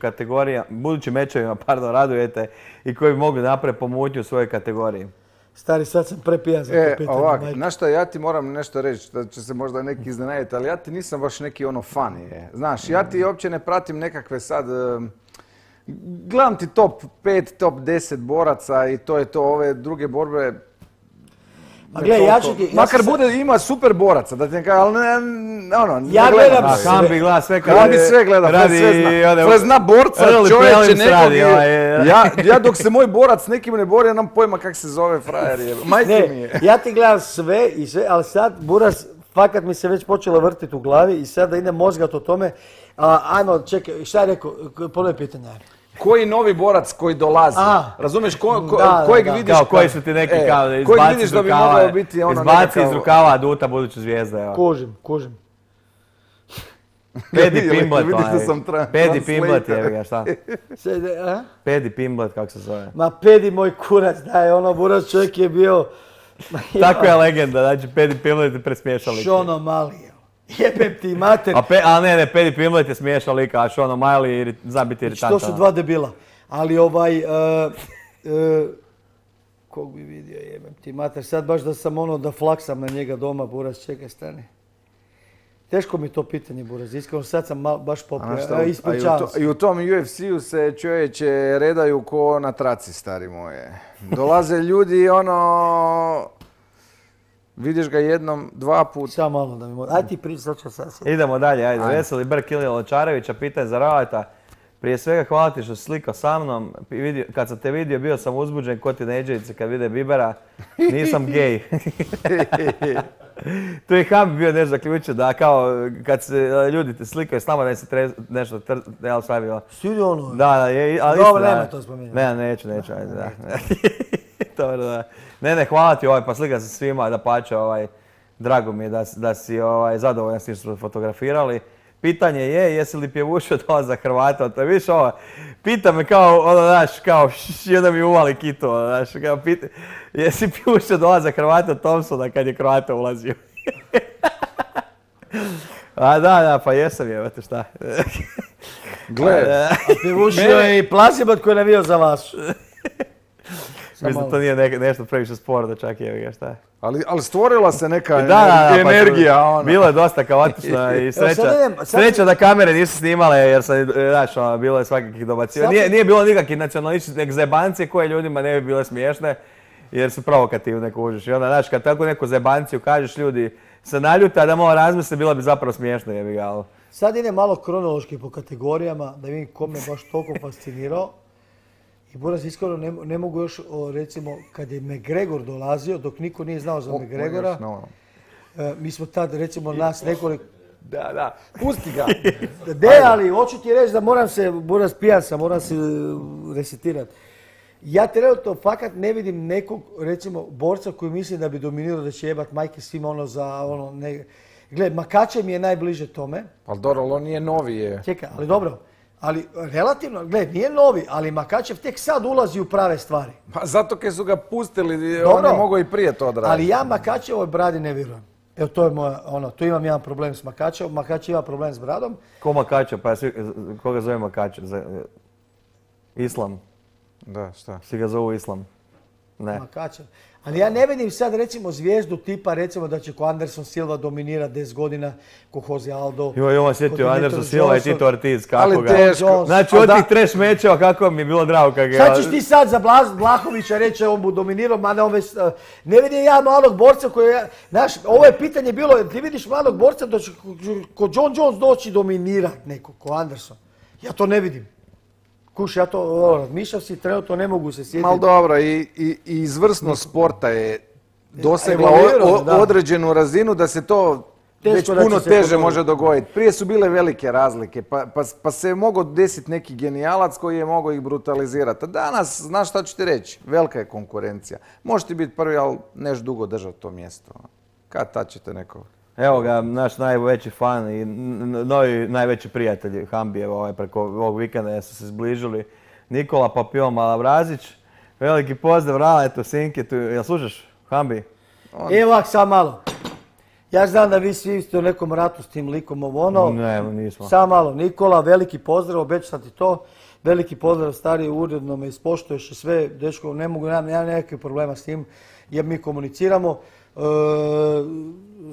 mečevima, radujete i koji bi mogli napraviti pomutnju u svojoj kategoriji? Stari, sad sam prepijan za to pitanje. Ovak, znaš šta, ja ti moram nešto reći, da će se možda neki iznenaditi, ali ja ti nisam baš neki ono fan je. Znaš, ja ti uopće ne pratim nekakve sad, gledam ti top 5, top 10 boraca i to je to, ove druge borbe. A gledaj, ja ću ti... Makar ima super boraca, da ti ne kažem, ali ne Ja gledam sve. Hambi gleda sve kad Hambi sve gleda, sve zna borca, čovječe nekog. Ja dok se moj borac nekim ne bori, ja nam pojma kak se zove frajer. Majke mi je. Ja ti gledam sve i sve, ali sad Buras, fakat mi se već počelo vrtiti u glavi i sad da idem mozgat o tome. Ajmo, čekaj, šta je rekao, ponovi pitanje. Koji novi borac koji dolazi? Razumiješ, kojeg vidiš? Kao koji su ti neki kao da izbaci iz rukava, izbaci iz rukava Aduta buduću zvijezda. Kužim. Pedi Pimblet, Pedi Pimblet je ga, šta? Pedi Pimblet, kako se zove? Ma Pedi moj kurac, daj, ono Buras čovjek je bio... Tako je legenda, znači Pedi Pimblet je presmiješao lik. Šono Mali, jebem ti mater. A ne, Pedi Pimblet je smiješao lika, a Šono Mali zna biti iritantan. To su dva debila, ali kog bi vidio, jebem ti mater, sad baš da sam ono da flaksam na njega doma, Buras, čekaj, stani. Teško mi to pitanje, Buraz, iskreno sad sam baš popio, ispričavam se. I u tom UFC-u se čovječe redaju ko na traci, stari moje. Dolaze ljudi i ono... Vidiš ga jednom, dva put. Samo malo da mi može. Ajde ti pričat ću sad. Idemo dalje, ajde. Veseli Brk Ilija Lončarevića, pitanje za Ravata. Prije svega hvala ti što si slikao sa mnom. Kad sam te vidio bio sam uzbuđen ko tinejdžerice kad vide Bibera. Nisam gej. Tu je Hambi bio nešto zaključio da kao kad se ljudi te slikaju s nama da se nešto jel sve bilo. Sidi ono. Da, ali dobro, nema to spominjati. Ne, neću, ajde da. Dobro, da. Ne, hvala ti pa slika se svima, da pače, drago mi je da si zadovoljan s tim što fotografirali. Pitanje je, jesi li pjevušio to za Hrvata? To je viš pita me kao, znaš, kao, onda mi uvali kito, znaš, kao jesi pjevušio to za Hrvata Thompsona kad je Hrvata ulazio? A da, pa jesam jebate, šta? Gle, a pjevušio je i Plasibat koji je navio za vas. Mislim da to nije nešto previše sporno, čak je ga šta. Ali stvorila se neka energija. Bilo je dosta kaotično i sreća da kamere nisu snimale jer sam, znaš, bilo je svakakih dobaciva. Nije bilo nikakvih nacionalističnih nek zebancije koje ljudima ne bi bile smiješne jer su provokativne kužiš. I onda, znaš, kad tako neku zebanciju kažeš ljudi se naljute, a da malo razmisle, bilo bi zapravo smiješno jebi ga. Sad ide malo kronološki po kategorijama da vidim ko me baš toliko fascinirao. I Buraz, iskreno ne mogu još, recimo, kad je McGregor dolazio, dok niko nije znao za McGregora, mi smo tad, recimo, nas nekoliko... Da, pusti ga. Ali hoću ti reći da moram se, Buraz, pijan sam, moram se resetirati. Ja trenutno fakat ne vidim nekog, recimo, borca koji mislim da bi dominirao da će jebat majke svima ono za ono... Gle, Makačev mi je najbliže tome. Ali dobro, on nije novi je. Čekaj, ali dobro. Ali relativno, gled, nije novi, ali Makačev tek sad ulazi u prave stvari. Pa zato kad su ga pustili, on je mogao i prije to odraditi. Ali ja Makačevoj bradi ne vjerujem. Evo, to je moja, tu imam jedan problem s Makačevom, Makačev ima problem s bradom. Ko Makačev? Pa koga zove Makačev? Islam? Da, šta? Svi ga zovu Islam? Ne. Makačev. Ali ja ne vidim sad recimo zvijezdu tipa recimo da će ko Anderson Silva dominira 10 godina, ko Jose Aldo. Ovo sjetio Anderson Silva i Tito Ortiz, kako ga. Teško. Znači od tih trash mečeva kako mi je bilo drago kako ga. Sad ćeš ti sad za Blahovića reći on bu dominirao, mada on već... Ne vidim ja malog borca koji je... Znaš, ovo je pitanje bilo, ti vidiš malog borca da će ko John Jones doći dominirat neko, ko Anderson. Ja to ne vidim. Kuš, ja to razmišljao si, trenutno ne mogu se sjetiti. Mal dobro, i izvrsnost sporta je dosegla određenu razinu da se to već puno teže može dogoditi. Prije su bile velike razlike, pa se je mogao desiti neki genijalac koji je mogao ih brutalizirati. A danas, znaš šta ću ti reći, velika je konkurencija. Možeš ti biti prvi, ali neš dugo držati to mjesto. Kad tad ćete neko... Evo ga, naš najveći fan i novi najveći prijatelj Hambijev preko ovog vikenda su se zbližili. Nikola Papion Malavrazić. Veliki pozdrav Raletu, Sinketu, jel slušaš Hambi? Evo ovak, sad malo. Ja znam da vi svi ste u nekom ratu s tim likom ovo Ne, nismo. Sad malo, Nikola, veliki pozdrav, obećam ti to. Veliki pozdrav, stari, uredno me ispoštuješ i sve, dečko, ne mogu, nemam nekakvih problema s tim, jer mi komuniciramo.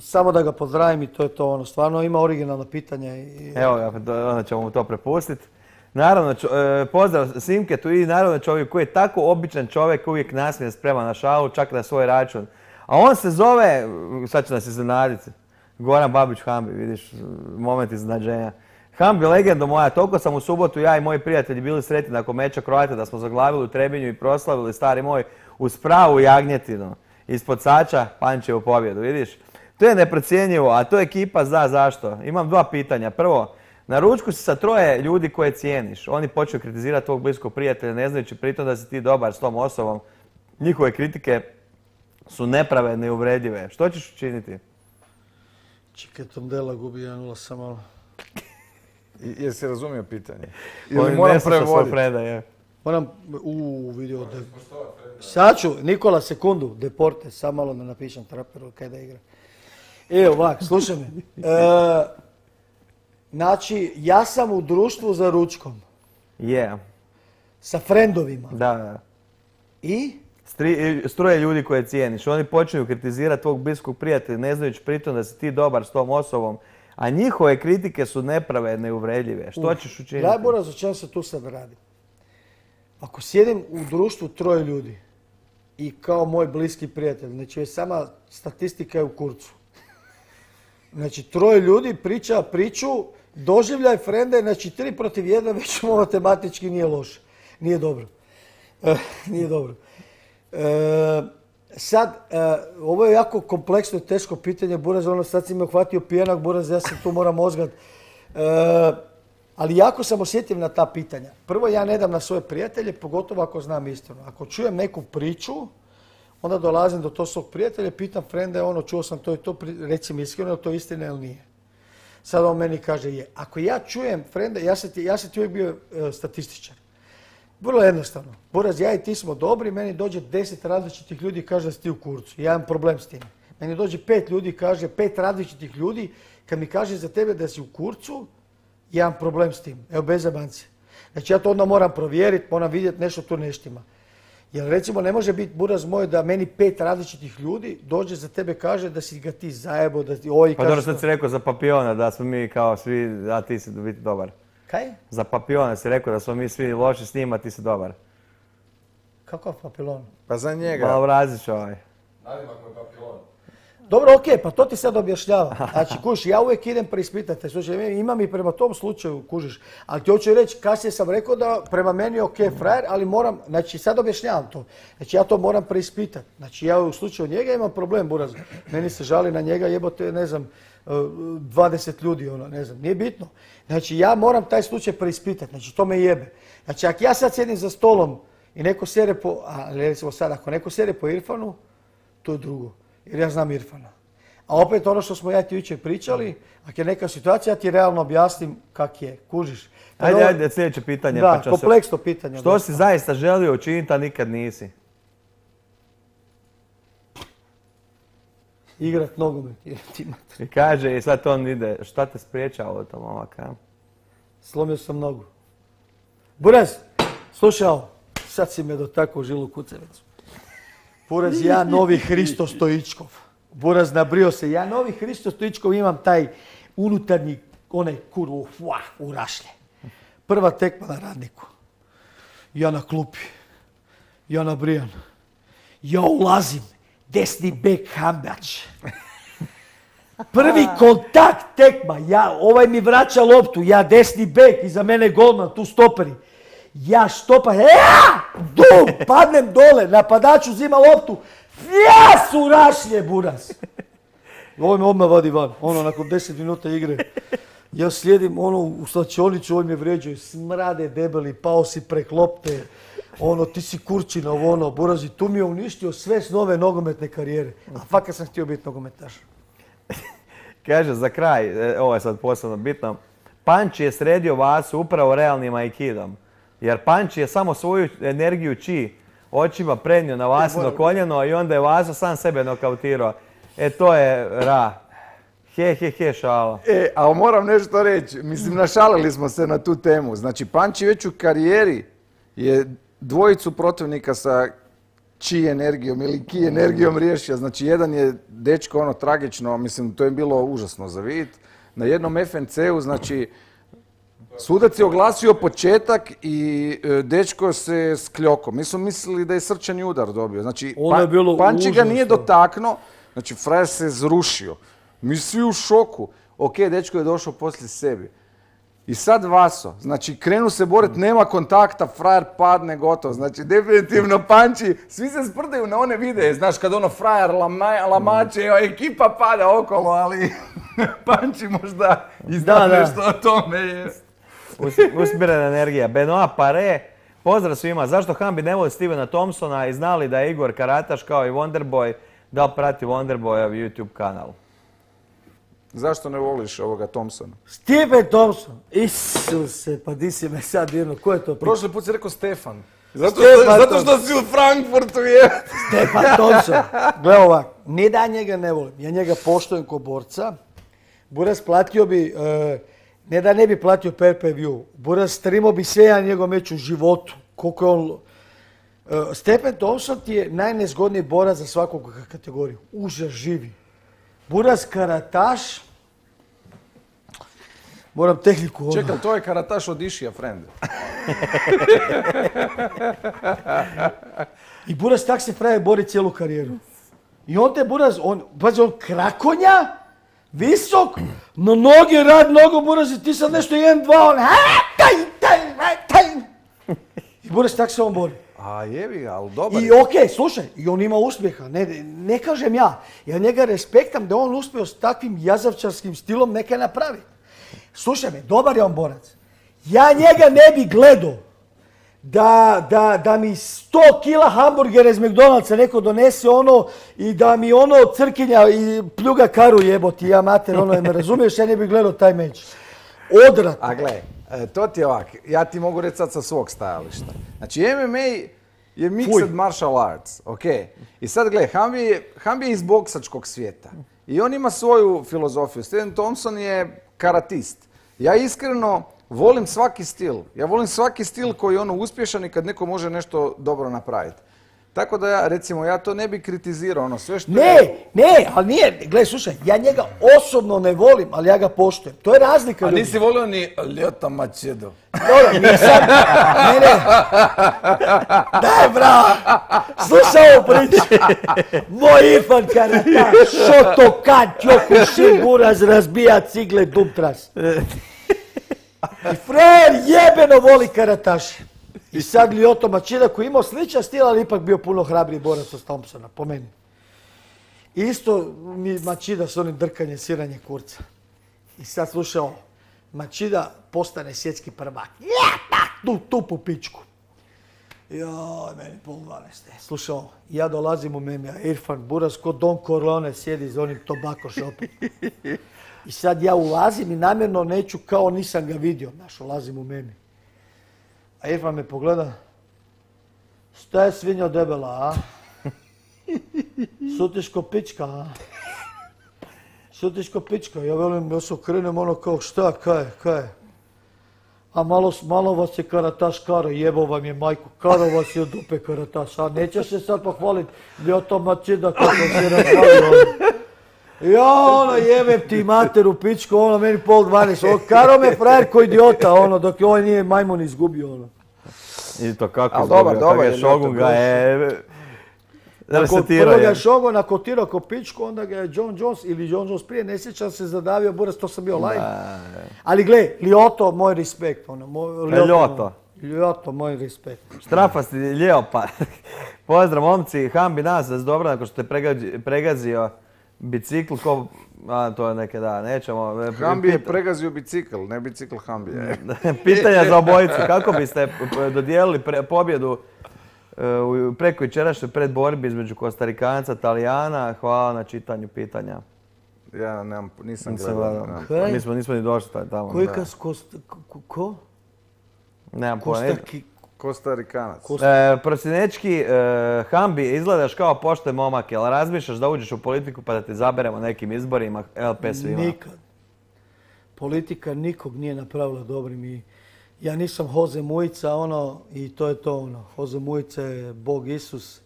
Samo da ga pozdravim i to je to, stvarno ima originalno pitanje. Evo ga, onda ćemo mu to prepustiti. Naravno, pozdrav Simketu i naravno čovjek koji je tako običan čovjek, uvijek nasmijen, spreman na šalu, čak na svoj račun. A on se zove, sad će nas iznenaditi, Goran Babić Hambi, vidiš, moment iznenađenja. Hambi, legendo moja, toliko sam u subotu ja i moji prijatelji bili sretni nakon meča Croate da smo zaglavili u Trebinju i proslavili, stari moj, uz pravu jagnjetinu. Ispod Sača, Pančevu pobjedu, vidiš. To je neprocjenjivo, a to ekipa zna zašto. Imam dva pitanja. Prvo, na ručku si sa troje ljudi koje cijeniš. Oni počnu kritizirati tvog bliskog prijatelja, ne znajući pritom da si ti dobar s tom osobom. Njihove kritike su nepravedne i uvredljive. Što ćeš učiniti? Čekaj, Tondela gubi 1-0 samo. Jesi razumio pitanje? Ili moram prevoditi? Moram, vidio da... Sad ću, Nikola, sekundu, Deporte, sam malo da napišem traperu kaj da igra. Evo, ovak, slušaj me. Znači, ja sam u društvu za ručkom. Je. Sa frendovima. Da. I? S troje ljudi koje cijeniš. Oni počinju kritizirati tvog bliskog prijatelja, ne znajući pritom da si ti dobar s tom osobom. A njihove kritike su nepravedne i uvredljive. Što ćeš učiniti? Najbolje o čem se tu sad radi. Ako sjedim u društvu troje ljudi i kao moj bliski prijatelj, znači sama statistika je u kurcu. Znači troje ljudi priča priču, doživljaj frende, znači 3 protiv 1 već matematički nije loše. Nije dobro. Nije dobro. Sad, ovo je jako kompleksno i teško pitanje, Buraz, sad si me uhvatio pijenak, Buraz, ja se tu moram mozgat. Ali jako sam osjetljiv na ta pitanja. Prvo, ja ne dam na svoje prijatelje, pogotovo ako znam istinu. Ako čujem neku priču, onda dolazim do tog svog prijatelja, pitam frende, čuo sam to i to, reci mi iskreno, to istina ili nije. Sad on meni kaže je. Ako ja čujem frende, ja sam ti uvijek bio statističar. Vrlo jednostavno. Buraz, ja i ti smo dobri, meni dođe 10 različitih ljudi i kaže da si ti u kurcu. Ja imam problem s tim. Meni dođe 5 ljudi i kaže, 5 različitih ljudi, kad mi kaže za tebe da si u kurcu, ja imam problem s tim. Evo, bez zabanci. Znači ja to onda moram provjeriti, moram vidjeti nešto tu neštima. Jer recimo ne može biti, Buraz moj, da meni 5 različitih ljudi dođe za tebe kaže da si ga ti zajebo, da ti Pa dobro sad si rekao za Papiona da smo mi kao svi, a ti si biti dobar. Kaj? Za Papiona si rekao da smo mi svi loši s njima, a ti si dobar. Kakav Papilon? Pa za njega. Malo vraziš ovaj. Nadimak mu je Papilon. Dobro, okej, pa to ti sad objašnjava. Znači, kužiš, ja uvijek idem preispitati. Slušaj, imam i prema tom slučaju, kužiš. Ali ti hoću reći, kasnije sam rekao da prema meni je okej frajer, ali moram, znači sad objašnjavam to. Znači ja to moram preispitati. Znači ja u slučaju njega imam problem, Buraz. Meni se žali na njega, jebote, ne znam, 20 ljudi, ne znam, nije bitno. Znači ja moram taj slučaj preispitati, znači to me jebe. Znači ako ja sad sjedim za stolom i neko sere recimo sad, ako neko sere po Irfanu, to je drugo. Jer ja znam Irfana. A opet ono što smo ja ti jučer pričali, ako je neka situacija, ja ti realno objasnim kak je, kužiš. Ajde, sljedeće pitanje. Da, kompleksno pitanje. Što si zaista želio učiniti, a nikad nisi? Igrat nogomet. I kaže, i sad on ide, šta te spriječava od tom ovaka? Slomio sam nogu. Buraz, slušaj ovo, sad si me dotakao u žilu kucavicu. Buraz, ja novi Hristo Stoičkov. Buraz, nabrio se. Ja novi Hristo Stoičkov imam taj unutarnji, onaj kurvu, u rašlje. Prva tekma na Radniku. Ja na klupi. Ja nabrijan. Ja ulazim. Desni bek Hambač. Prvi kontakt tekma. Ovaj mi vraća loptu. Ja desni bek. Iza mene golman. Tu stoperi. Ja štopam, padnem dole, napadač uzima loptu, su rašlje, Buraz. Ovo me odmah vadi van, nakon 10 minuta igre. Ja slijedim u slačionicu, on me vređaju, smrade debeli, pao si prek lopte, ti si kurčina, Buraz, i tu mi je uništio sve s nove nogometne karijere. A fakat sam htio biti nogometaš. Kaže, za kraj, ovo je sad posebno bitno, Panči je sredio Vasu upravo realnim aikidom. Jer Panči je samo svoju energiju očima prenio na Vasino koljeno i onda je Vaso sam sebe nokautirao. To je he, šala. Ali moram nešto reći, mislim, našalili smo se na tu temu. Znači, Panči već u karijeri je dvojicu protivnika sa chi energijom ili ki energijom riješio. Znači, jedan je dečko tragično, mislim, to je bilo užasno za vidjeti. Na jednom FNC-u, znači, sudac je oglasio početak i dečko se skljoko. Mi smo mislili da je srčani udar dobio. Znači, Panči ga nije dotaknuo, znači, frajer se zrušio. Mi svi u šoku. Ok, dečko je došao poslije sebi. I sad Vaso, znači krenu se boriti, nema kontakta, frajer padne, gotovo. Znači definitivno Panči, svi se sprdaju na one videe, znaš kad frajer lamače, ekipa pada okolo, ali Panči možda izda nešto o tome jest. Usmjerena energija. Benoit Pare, pozdrav svima. Zašto Hambi ne voli Stevena Thompsona i znali da je Igor karataš kao i Wonderboy, da li prati Wonderboyov YouTube kanal? Zašto ne voliš ovoga Thompsona? Steven Thompson! Isuse, pa di si me sad dirno, ko je to? Prošli put si rekao Stefan. Zato što si u Frankfurtu je. Stefan Thompson. Gle ovak, nije da ja njega ne volim. Ja njega poštujem ko borca. Buraz platio bi, ne da ne bi platio pay-per-view. Buraz streamao bi sve ja njegov meč u životu. Koliko je on... Stephen Thompson ti je najnezgodniji borac za svakog kategoriju. Užas živi. Buraz karataš, moram tehniku... Čekaj, to je karataš od Išija, friend. I Buraz tak se frajer bori cijelu karijeru. I on te Buraz, on krakonja, visok, no noge rad, nogo Buraz i ti sad nešto 1-2, on... I Buraz tak se on bori. A jebi ga, ali dobar je. I okej, slušaj, i on ima uspjeha, ne kažem ja. Ja njega respektam da on uspio s takvim jazavčarskim stilom neka napravi. Slušaj me, dobar je on borac. Ja njega ne bi gledao da mi 100 kila hamburgera iz McDonald'sa neko donese i da mi crkinja i pljuga karu jeboti, ja mater, me razumiješ, ja ne bi gledao taj meč. Odvratno. A gle, to ti je ovak, ja ti mogu reći sad sa svog stajališta. Znači MMA je mixed martial arts, ok? I sad gle, Hambi je iz boksačkog svijeta. I on ima svoju filozofiju. Steven Thompson je karatist. Ja iskreno volim svaki stil. Ja volim svaki stil koji je uspješan i kad neko može nešto dobro napraviti. Tako da ja to ne bi kritizirao, sve što Ne, ali nije, gledaj, slušaj, ja njega osobno ne volim, ali ja ga poštujem. To je razlika. A nisi volio ni Ljota Mačedo? Dobro, nisam, ne. Daj, bravo, slušaj ovu priču. Moj Irfan karataš, Shotokan, Kyokushin, Buraz, razbija cigle, dumtras. I frajer jebeno voli karataši. I sad Lyoto Machida koji je imao sličan stil, ali ipak bio puno hrabriji borac od Thompsona, po meni. Isto mi Machida s onim drkanjem, siranje kurca. I sad slušaj ovo, Machida postane svjetski prvak. Tu po pičku. Joj, meni pol 12. Slušaj ovo, ja dolazim u Memija, Irfan Buraz ko Don Corleone sjedi za onim tobacco shopom. I sad ja ulazim i namjerno neću kao nisam ga vidio, ulazim u Memija. A Irfan me pogleda, šta je svinja debela, a? Šutiš ko pička, a? Šutiš ko pička, ja velim, ja se okrenem kao šta, kaj? A malo vas je karataš karo, jebo vam je majku, karo vas je od dupe karataš, a nećeš se sad pohvaliti, Lyoto Machida kako se razvalio. Ja, jebem ti materu pičku, meni pol 12, karo me frajer ko idiota, dok je ovaj nije majmun izgubio, I to kako izgubio, kako je Shogun ga je... Prvo ga je Shogun nakotirao ko pičku, onda ga je John Jones prije, ne sjećam se, zadavio Buraz, to sam bio live. Ali gle, Lyoto, moj respekt. Lyoto, moj respekt. Štrafasti Ljeopa. Pozdrav momci, Hambi nas da se dobro nakon što te pregazio bicikl, to je neke da, nećemo. Hambi je pregazio bicikl, ne bicikl Hambija. Pitanja za obojicu, kako biste dodijelili pobjedu preko jučerašnje predborbi između Kostarikanca, Talijana? Hvala na čitanju pitanja. Ja nisam gledao. Nismo ni došli tamo. Ko? Nemam pojma. Kostarikanac. Prosinečki, Hambi, izgledaš kao pošten momak, jel razmišljaš da uđeš u politiku pa da te zaberemo nekim izborima LP svima? Nikad. Politika nikog nije napravila dobrim i ja nisam Hoze Mujica, i to je to, Hoze Mujica je Bog Isus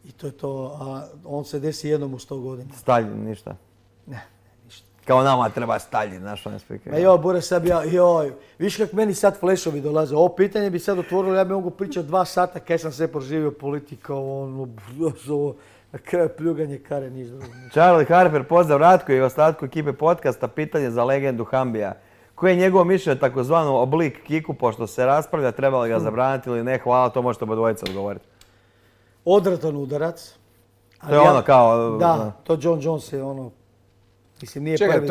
i to je to, a on se desi jednom u 100 godina. Staljin, ništa? Ne, ništa. Kao nama treba Staljin, znaš on je spike. Ma Bure, sad viš kak meni sad flešovi dolaze, ovo pitanje bi sad otvorilo, ja bi mogu pričati 2 sata kaj sam sve proživio politika, na kraju pljuganje kare, niš drugo. Charlie Harper, pozdrav Ratko i ostatku ekipe podcasta, pitanje za legendu Hambija. Koji je njegovo mišljenje takozvano oblik kiku, pošto se raspravlja, treba li ga zabraniti ili ne? Hvala, to možete obadvojica odgovoriti. Odratan udarac. To je kao... Da, to John Jones je mislim, nije prvi. Čekaj,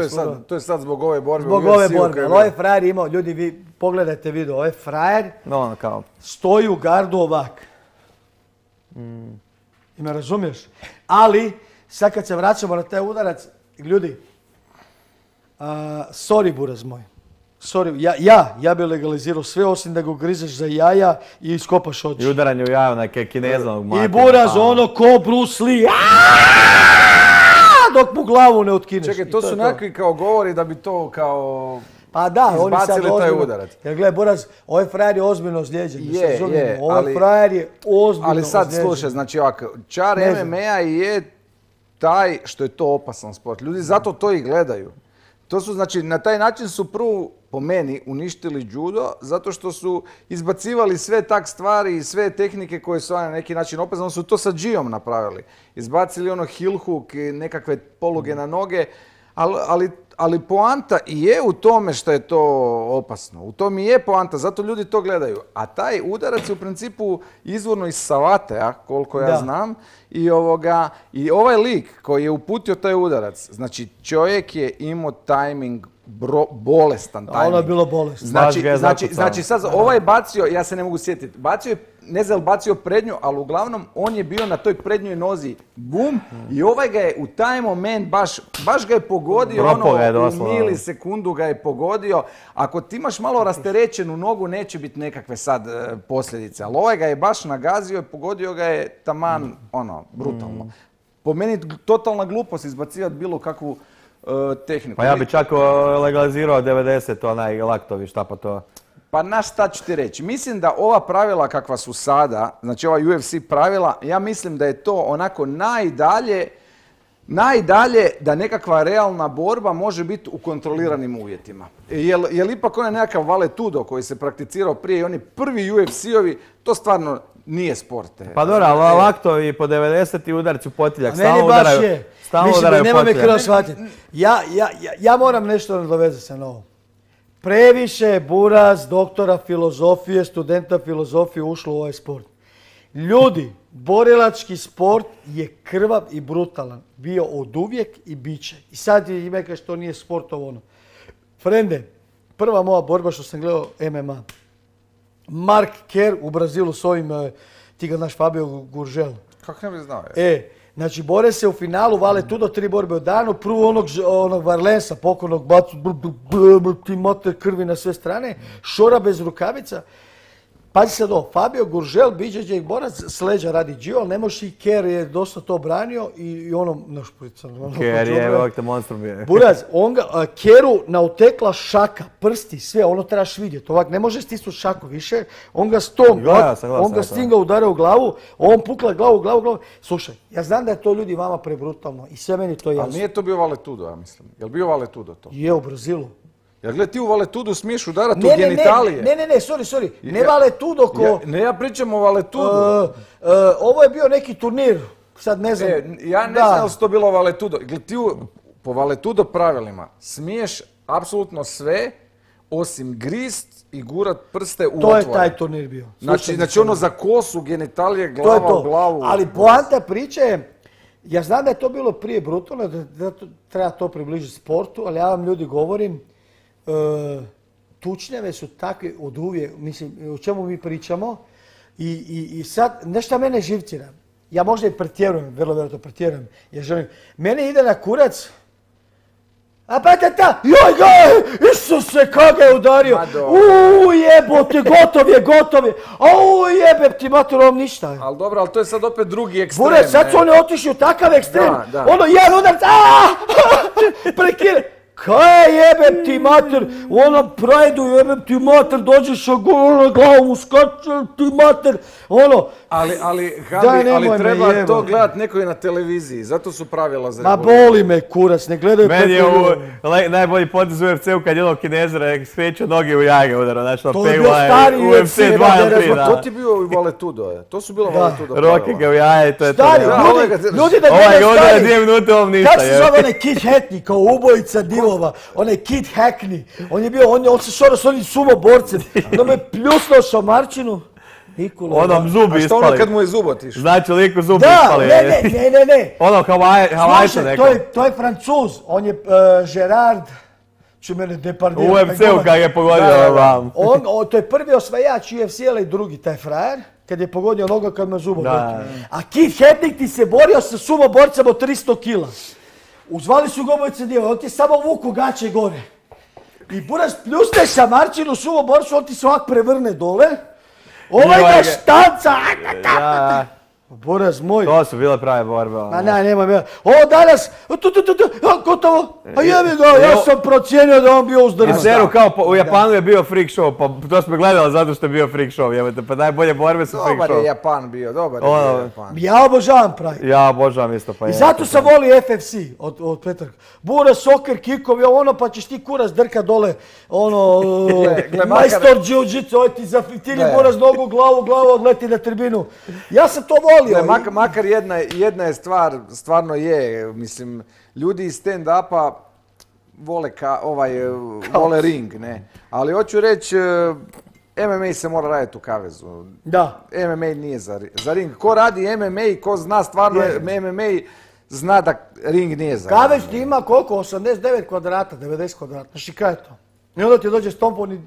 to je sad zbog ove borbe. Zbog ove borbe, ali ovaj frajer imao, ljudi, vi pogledajte video, ovaj frajer stoji u gardu ovak. I me razumiješ? Ali, sad kad se vraćamo na taj udarac, ljudi, sorry buraz moj, sorry, ja bi legalizirao sve osim da ga grizeš za jaja i iskopaš oči. I udaranje u jaja neke kinezanog mata. I buraz ko Bruce Lee, dok mu glavu ne otkineš. Čekaj, to su nekakvi kao govori da bi to kao... Pa da, oni sad izbacili taj udarac. Jer gledaj, Boraz, ovaj frajer je ozbiljno ozlijeđen. Ovaj frajer je ozbiljno ali sad ozlijeđen. slušaj, znači ovako, čar MMA je taj što je to opasan sport. Ljudi zato to i gledaju. To su, znači, na taj način su prvo, po meni, uništili judo, zato što su izbacivali sve tak stvari i sve tehnike koje su na neki način opasne. Oni su to sa džijom napravili. Izbacili heel hook i nekakve poluge na noge, ali poanta i je u tome što je to opasno. U tom i je poanta, zato ljudi to gledaju. A taj udarac je u principu izvorno iz Savatea, koliko ja znam. I ovaj lik koji je uputio taj udarac, znači čovjek je imao tajming, bolestan tajming. Ono je bilo bolesno. Znači sad ovaj bacio, ja se ne mogu sjetiti, bacio je, ne znam bacio prednju, ali uglavnom on je bio na toj prednjoj nozi, bum, i ovaj ga je u taj moment baš ga je pogodio, u milisekundu ga je pogodio. Ako ti imaš malo rasterećenu nogu, neće biti nekakve sad posljedice, ali ovaj ga je baš nagazio i pogodio ga je taman, brutalno. Po meni totalna glupost izbacivati bilo kakvu tehniku. Pa ja bi čak legalizirao 90, onaj laktovi, šta pa to? Pa šta ću ti reći? Mislim da ova pravila kakva su sada, znači ova UFC pravila, ja mislim da je to onako najdalje da nekakva realna borba može biti u kontroliranim uvjetima. Jer ipak onaj nekakav valetudo koji se prakticirao prije i oni prvi UFC-ovi, to stvarno nije sport. Pa dobro, ali laktovi po 90 udarci u potiljak, stalno udaraju potiljak. Nema me krv shvatiti. Ja moram nešto nadovezati se na ovo. Previše buraz doktora filozofije, studenta filozofije ušlo u ovaj sport. Ljudi, borilački sport je krvav i brutalan. Bio oduvijek i bit će. I sad ima kaže što nije sport ovo ono. Frende, prva moja borba što sam gledao MMA. Mark Kerr u Brazilu s ovim, ti ga znaš, Fabio Gurgel. Kako ne bi znao? Znači, bore se u finalu, vale tu do 3 borbe u danu, prvo onog Varlensa, pokojnog bacu, ti mater krvi na sve strane, šora bez rukavica. Pazi sad ovo, Fabio Gurgel, BJJ borac, s leđa radi džio, ali ne može i Kerr je dosta to branio i Kerr je ovak te monstrum bio. Buraz, Kerru nautekla šaka, prsti, sve, ono trebaš vidjeti, ovak ne može stisnuti šaku više, on ga stinga udara u glavu, on pukla glavu. Slušaj, ja znam da je to ljudi vama prebrutalno i sve meni to jasno. Ali nije to bio valetudo, ja mislim. Je li bio valetudo to? Je, u Brazilu. Jer gledaj, ti u valetudu smiješ udarati u genitalije. Ne, sorry. Ne valetudo ko... Ne, ja pričam o valetudu. Ovo je bio neki turnir, sad ne znam. Ja ne znam li su to bilo valetudo. Gledaj, ti po valetudo pravilima smiješ apsolutno sve, osim grist i gurat prste u otvore. To je taj turnir bio. Znači ono za kosu, genitalije, glava u glavu. Ali poanta priče je, ja znam da je to bilo prije brutalno, da treba to približiti sportu, ali ja vam ljudi govorim, tučnjave su takve od uvijek, mislim, o čemu mi pričamo i sad, nešto mene živcira. Ja možda i pretjerujem, vrlo vjerojatno pretjerujem, jer želim. Mene ide na kurac A pa joj ga, Isuse, kak ga je udario. Jebote, gotov je. Jebem ti mater, ovom ništa. Ali dobro, ali to je sad opet drugi ekstrem. Bure, sad su oni otišli u takav ekstrem. Ono, jedan udarac, prekine. Kaj jebem ti mater, u onom prajdu jebem ti mater, dođeš na glavu mu skače ti mater, ono. Ali Hambi, treba to gledat neko je na televiziji, zato su pravila za revoluciju. Ma boli me kurac, ne gledaju pet miliona. Meni je najbolji potez u UFC-u kad jednog Kinezera skreću noge u jage udara, znači to je bio stari UFC 2-3. To ti bio i Valetudo, to su bilo Valetudo pravila. Roke ga u jaje, to je to. Stari, ljudi da gledaju stari. 2 minute ovom ništa. Kako se zove onaj Kid Hackney, kao ubojica divova, onaj Kid Hackney, on se šoro s onim sumo borcem, onda me pljusnuo šamarčinu. Onom zubi ispali. A što ono kad mu je zub otišao? Znači liku zubi ispali. Ne. Ono Havajča neko. To je Francuz, on je Gerard, ću mene Depardieu. U UFC-u kad je pogodio vam. To je prvi osvajač UFC-a i drugi taj frajer, kad je pogodio noga kad me zubom. A Kid Hackney ti se borio sa sumo borcem od 300 kila. Uzvali su ga obojice diva, on ti samo vuku gaće gore. I buraz pljusne šamarčinu sumo borcu, on ti se ovak prevrne dole. Ovaj ga štanca! Boraz moj. To su bile prave borbe. Ma nema. Danas, gotovo. A jebi ga, ja sam procijenio da on bio uzdrman. Zeru kao u Japanu je bio freak show, pa to smo gledali zato što je bio freak show, jebate, pa najbolje borbe su freak show. Dobar je Japan bio, Japan. Ja obožavam pravi. Ja obožavam isto, pa i zato sam volio FFC od Petrka. Bura, soker, kikovi, pa ćeš ti kurac drka dole, majstor jiu-jitsu, oj ti zafitili buraz nogu, glavu, odleti na tribinu. Ja sam to volio. Makar jedna je stvar, stvarno je, mislim, ljudi iz stand-upa vole ring, ne. Ali hoću reći, MMA se mora raditi u kavezu. Da. MMA nije za ring. Ko radi MMA i ko zna stvarno MMA, zna da ring nije za ring. Kavez ti ima koliko? 89 kvadrata, 90 kvadrata. Znači kaj je to? I onda ti dođe Stompon,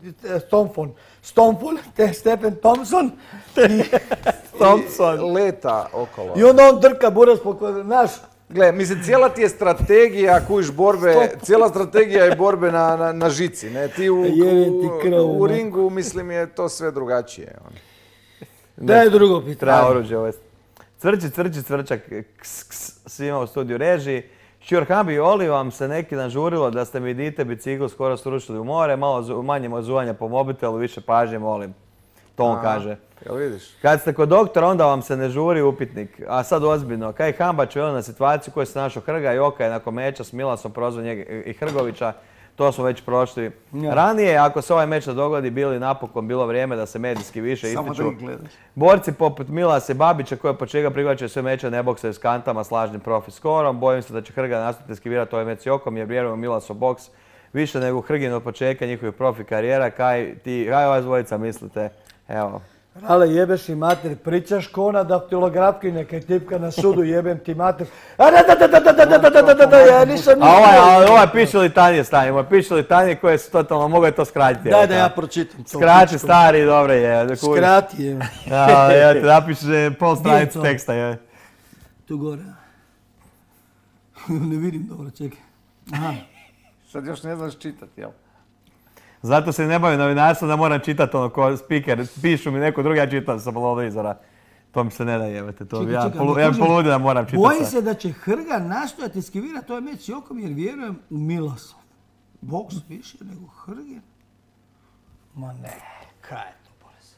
Stephen Thompson Thompson leta okolo. I onda on drka buraz naš. Gle, mislim, cijela ti je strategija, kuš borbe, cijela strategija je borbe na žici, ne? Ti u ringu, mislim, je to sve drugačije. Da je drugo pitanje. Treba oruđe ovo. Cvrčak, svima u studiju režiji. Šjur Hambi, Oli vam se neki dan žurilo da ste mi dite bicikl skoro srušili u more, malo manje mozuvanja po mobitelu, više pažnje molim. To on kaže. Jel vidiš? Kad ste kod doktora, onda vam se ne žuri upitnik. A sad ozbiljno, kaj Hambač veli na situaciju koju se našao Hrga i Oka je nakon meča s Milasom prozvao njega i Hrgovića. To smo već prošli. Ranije, ako se ovaj meč ne dogodi, bilo vrijeme da se medijski više ističu. Borci poput Milasa i Babića koji po čega prihvaćaju sve meče ne boksaju s kantama s lažnim profi skorom. Bojim se da će Hrga nastaviti skivirati ovaj meč s Jokom jer vjerujem u Milasov boks više nego Hrgin od početka njihovih profi karijera. Kaj ova dvojica mislite? Evo. Ale jebeš i mater, pričaš ko ona daktilografkinja kaj tipka na sudu, jebem ti mater. Ja nisam ništa. A ovaj piše litanje stanje, piše litanje koje su totalno, mogu je to skratiti. Daj da ja pročitam. Skrati stari, dobro je. Skrati je. Ja ti napišeš pol stranicu teksta. Tu gore. Ne vidim dobro, čekaj. Sad još ne znaš čitati, jel? Zato se ne bavim novinarstvom da moram čitati ono ko speaker. Pišu mi neko drugi, ja čitam sa televizora. To mi se ne da jebate. Ja poludim da moram čitati. Bojim se da će Hrga nastojati eskivirati ovaj meč s Jokom jer vjerujem u Milasov. Boks više nego Hrge? Ma ne, kaj je to bolest?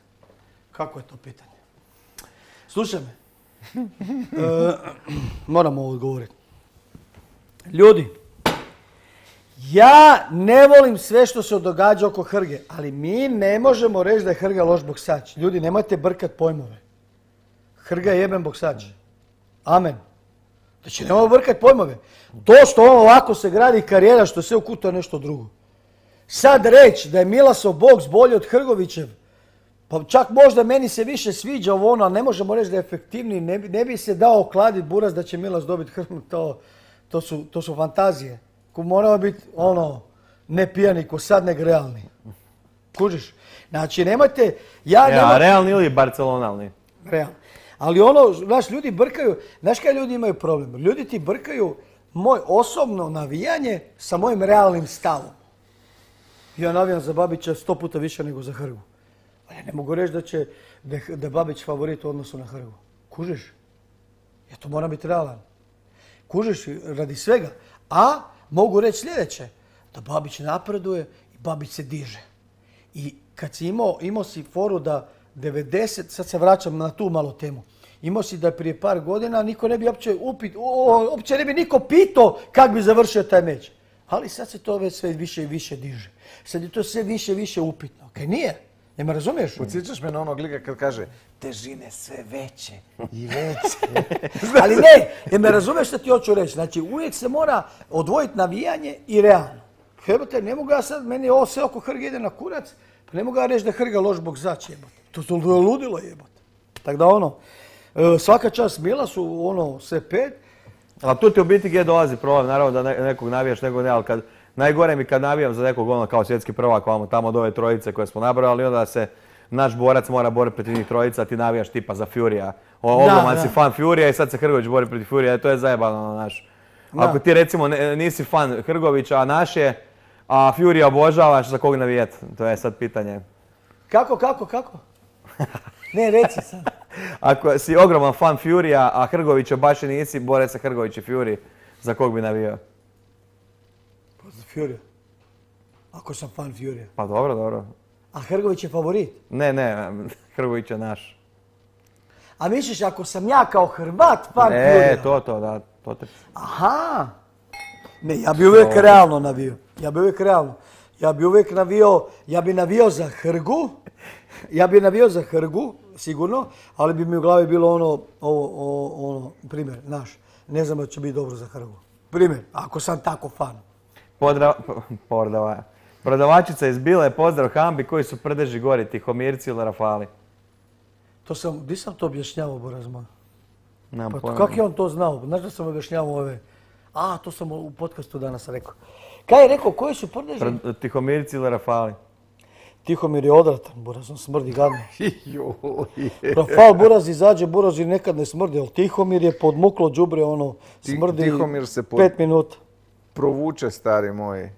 Kako je to pitanje? Slušaj me. Moram ovo odgovoriti. Ljudi, ja ne volim sve što se događa oko Hrge, ali mi ne možemo reći da je Hrga loš boksač. Ljudi, nemojte brkat pojmove. Hrga je jeben boksač. Amen. Znači, nemojmo brkat pojmove. To što on ovako se gradi karijera, što se ukuta je nešto drugo. Sad reći da je Milasov boks bolji od Hrgovićev, pa čak možda meni se više sviđa ovo ono, ali ne možemo reći da je efektivniji. Ne bi se dao okladiti buraz da će Milas dobiti Hrgu. To su fantazije. Moramo biti ne pijani ko sad, nego realni. Kužiš? Znači, nemojte... Realni ili barcelonalni? Realni. Ali znaš, ljudi brkaju... Znaš kaj ljudi imaju problem? Ljudi ti brkaju moj osobno navijanje sa mojim realnim stavom. Ja navijam za Babića 100 puta više nego za Hrgu. Ali ja ne mogu reći da je Babić favorit u odnosu na Hrgu. Kužiš? Ja to moram biti realan. Kužiš radi svega. A mogu reći sljedeće. Da Babić napreduje i Babić se diže. I kad si imao si foru da 90, sad se vraćam na tu malo temu, imao si da prije par godina niko ne bi uopće ne bi niko pitao kako bi završio taj meč. Ali sad se to već sve više i više diže. Sad je to sve više i više upitno. Kaj nije? Ne me razumiješ? Podsjećaš me na onog lika kad kaže težine sve veće i veće. Ali ne, jer me razumiješ što ti hoću reći. Znači uvijek se mora odvojiti navijanje i realno. Jebote, ne mogu ja sad, meni ovo sve oko Hrga ide na kurac, pa ne mogu ja reći da je Hrga loš boksač, jebote. To je ludilo, jebote. Tako da svaka čast Mila su sve 5. Ali tu ti u biti gdje dolazi problem, naravno da nekog navijaš, nekog ne, ali najgore mi kad navijam za nekog kao svjetski prvak, tamo od ove trojice koje smo nabrali, onda da se naš borac mora boriti protiv njih trojica, a ti navijaš tipa za Furija. Ogroman si fan Furija i sad se Hrgović bori protiv Furija, to je zajebano, naš. Ako ti recimo nisi fan Hrgovića, a naš je, a Furija obožavaš, za kog navijeti? To je sad pitanje. Kako? Ne, reci sad. Ako si ogroman fan Furija, a Hrgovića baš i nisi, bore se Hrgović i Fury, za kog bi navijao? Pa za Furija. Ako sam fan Furija. Pa dobro. A Hrgović je favorit? Ne, Hrgović je naš. A misliš ako sam ja kao Hrvat fan Furija? To te... Aha! Ne, ja bi uvijek realno navio. Ja bi navio za Hrgu. Sigurno, ali bi mi u glavi bilo primjer, naš. Ne znam da će biti dobro za Hrgu. Primjer, ako sam tako fan. Prodavačica iz Bile, pozdrav Hambi, koji su prdeži gori, Tihomirci ili Rafali? Di sam to objašnjavao, Boraz moj? Pa kako je on to znao? Znaš da sam objašnjavao ove... to sam u podcastu danas rekao. Kaj je rekao, koji su prdeži? Tihomirci ili Rafali? Tihomir je odratan, Buraz, on smrdi gadno. Rafal Buraz izađe, Buraz i nekad ne smrdi, ali Tihomir je podmuklo đubre, smrdi 5 minuta. Provuče, stari moji.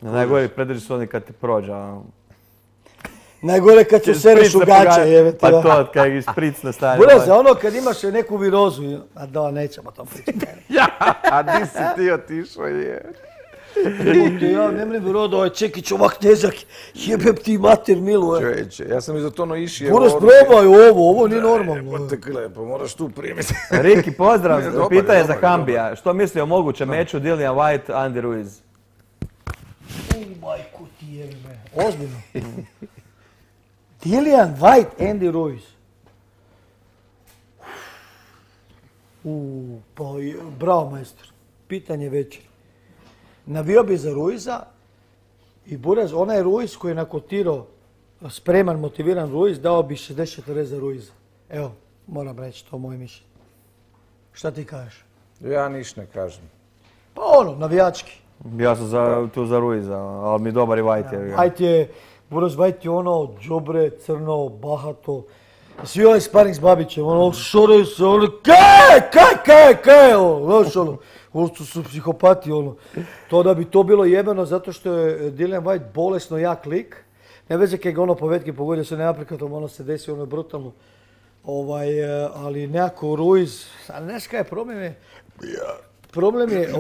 Najgori predrži su oni kad ti prođe. Najgore kad ću sereš u gaće, jebete. Pa to, kad ih spricne stari. Buraz, kad imaš neku virozu, nećemo to pričati. A di si ti otišao, je? Ja ne mrem rodo, Čekić ovak težak, jebem ti mater milu. Čovječe, ja sam izotono išio. Buraz, probaj ovo nije normalno. Pa moraš tu primiti. Riki, pozdrav, pitanje za Hambija. Što misli o mogućem meču Dillian White, Andy Ruiz? Majku ti jebe, ozbiljno. Dillian White, Andy Ruiz. Pa bravo, majstor. Pitanje večer. Navio bi za Ruiza i Buraz, onaj Ruiz koji je nakotirao spreman, motiviran Ruiz, dao bi 60-40 za Ruiza. Evo, moram reći, to je moje mišljenje. Šta ti kažeš? Ja niš ne kažem. Pa navijački. Ja sam tu za Ruiza, ali mi dobar i White. Buraz White je džobre, crno, bahato. Svi ovaj sparing s Babićem, šore se, kaj, ovo su psihopati, To da bi to bilo jebeno zato što je Dillian White bolesno jak lik. Ne veze kaj ga povedke pogodio se neaprikatom, se desi brutalno. Ali nekako Ruiz, ali znaš kaj je problem? Problem je,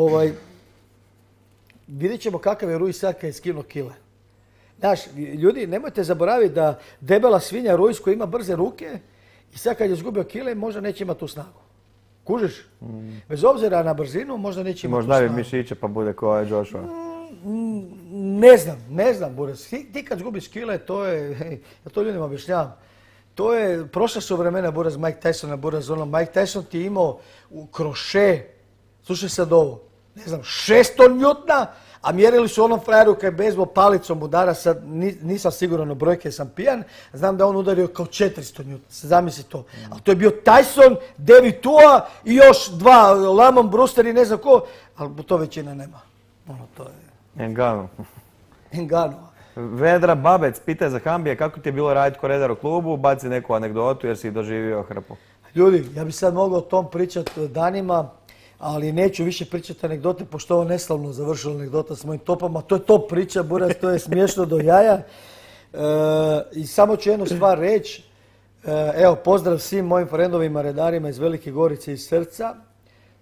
vidjet ćemo kakav je Ruiz sad kad je skinuo kile. Znaš, ljudi, nemojte zaboraviti da debela svinja Ruiz koji ima brze ruke i sad kad je izgubio kile, možda neće imati tu snagu. Kužiš? Bez obzira na brzinu, možda neće imati tu snagu. Možda bi mišiće pa bude kao je Joshua. Ne znam, Buraz. Ti kad zgubiš kile, to je, ja to ljudima objašnjavam, to je, prošla su vremena Buraz, Mike Tysona, Buraz, Mike Tyson ti je imao kroše, slušaj sad ovo, 600 njutna, a mjerili su onom frajeru kad je bejzbol palicom udara, sad nisam siguran o brojke, sam pijan, znam da on udario kao 400 njutna, zamisli to. Ali to je bio Tyson, David Tua i još dva, Lamont Brewster i ne znam ko, ali to većina nema. To je... Engano. Vedra Babec, pitaj za Hambija kako ti je bilo raditi ko redar u klubu, baci neku anegdotu jer si doživio hrpu. Ljudi, ja bi sad mogao o tom pričati danima. ali neću više pričati anegdote, pošto ovo neslavno završila anegdota s mojim topama. To je top priča, Buraz, to je smiješno do jaja. I samo ću jednu stvar reći. Evo, pozdrav svim mojim frendovima, redarima iz Velike Gorice i srca.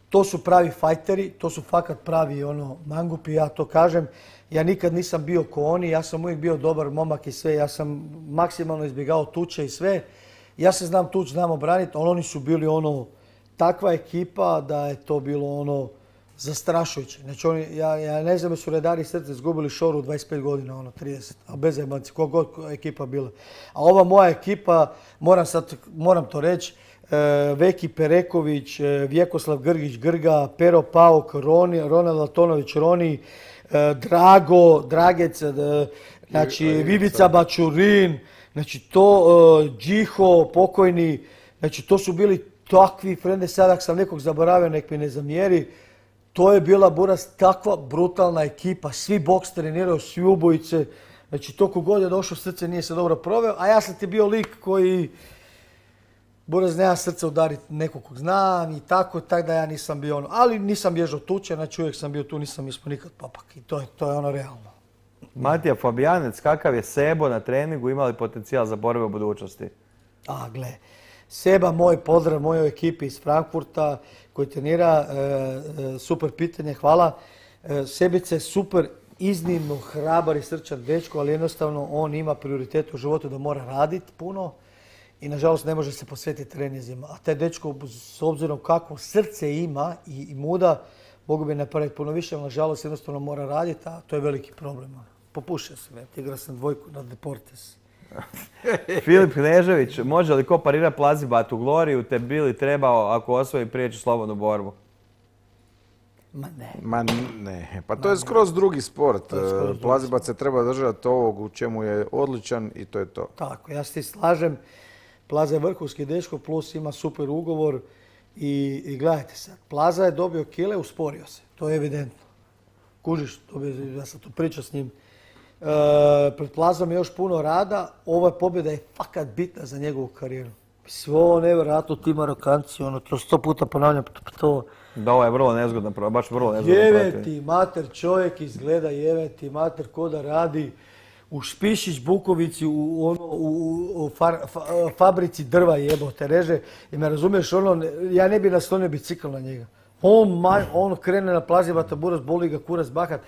To su pravi fajteri, to su fakat pravi mangupi, ja to kažem. Ja nikad nisam bio ko oni, ja sam uvijek bio dobar momak i sve, ja sam maksimalno izbjegao tuče i sve. Ja se znam tuč, znam obraniti, ali oni su bili takva ekipa da je to bilo zastrašujuće. Znači ja ne znam da su redari srce izgubili šoru u 25 godina, 30, a bez jebanci, kogod ekipa bila. A ova moja ekipa, moram to reći, Veki Pereković, Vjekoslav Grgić Grga, Pero Pauk, Ronald Latonović Roni, Drago, Dragec, znači Vivica Bačurin, znači to, Džiho, pokojni, znači to su bili takvi frende, sad ako sam nekog zaboravio, nek mi ne zamjeri. To je bila, Buraz, takva brutalna ekipa, svi boks treniraju, svi ubojice, znači to kogod je došao srce nije se dobro proveo, a ja sam ti bio lik koji, Buraz, nema srce udariti nekog kog znam i tako da ja nisam bio ali nisam bježao tuče, znači uvijek sam bio tu, nisam ispao nikad papak i to je realno. Matija Fabijanec, kakav je Sebo na treningu, ima li potencijal za borbe u budućnosti? Gle, Seba, moj pozdrav mojoj ekipi iz Frankfurta koji trenira, super pitanje, hvala. Sebice je super, iznimno hrabar i srčan dečko, ali jednostavno on ima prioritet u životu da mora raditi puno i nažalost ne može se posvetiti treninzima. A taj dečko, s obzirom kakvo srce ima i muda, mogu bi napraviti puno više, ali nažalost jednostavno mora raditi, a to je veliki problem. Popušio sam, igrao sam dvojku na Deportes. Filip Knežević, može li ko parira Plazibat u Gloriju, te bi li trebao ako osvoji prijeći slobodnu borbu? Ma ne, pa to je skroz drugi sport. Plazibat se treba držati ovog u čemu je odličan i to je to. Tako, ja se ti slažem. Plaza je vrhunski dečko, plus ima super ugovor i gledajte sad, Plaza je dobio kile, usporio se, to je evidentno. Kužiš, ja sam to pričao s njim. Pred Plazom je još puno rada, ova pobjeda je fakat bitna za njegovu karijeru. Svo nevjerojatno ti Marokanci, to 100 puta ponavljam to. Da, ovo je vrlo nezgodno, baš vrlo nezgodno. Jeveti mater, čovjek izgleda jeveti mater ko da radi u Špišić Bukovici, u fabrici drva jebote reže. I me razumiješ, ja ne bi naslonio bicikl na njega. On krene na Plazivata, Buraz, boli ga kurac bahat.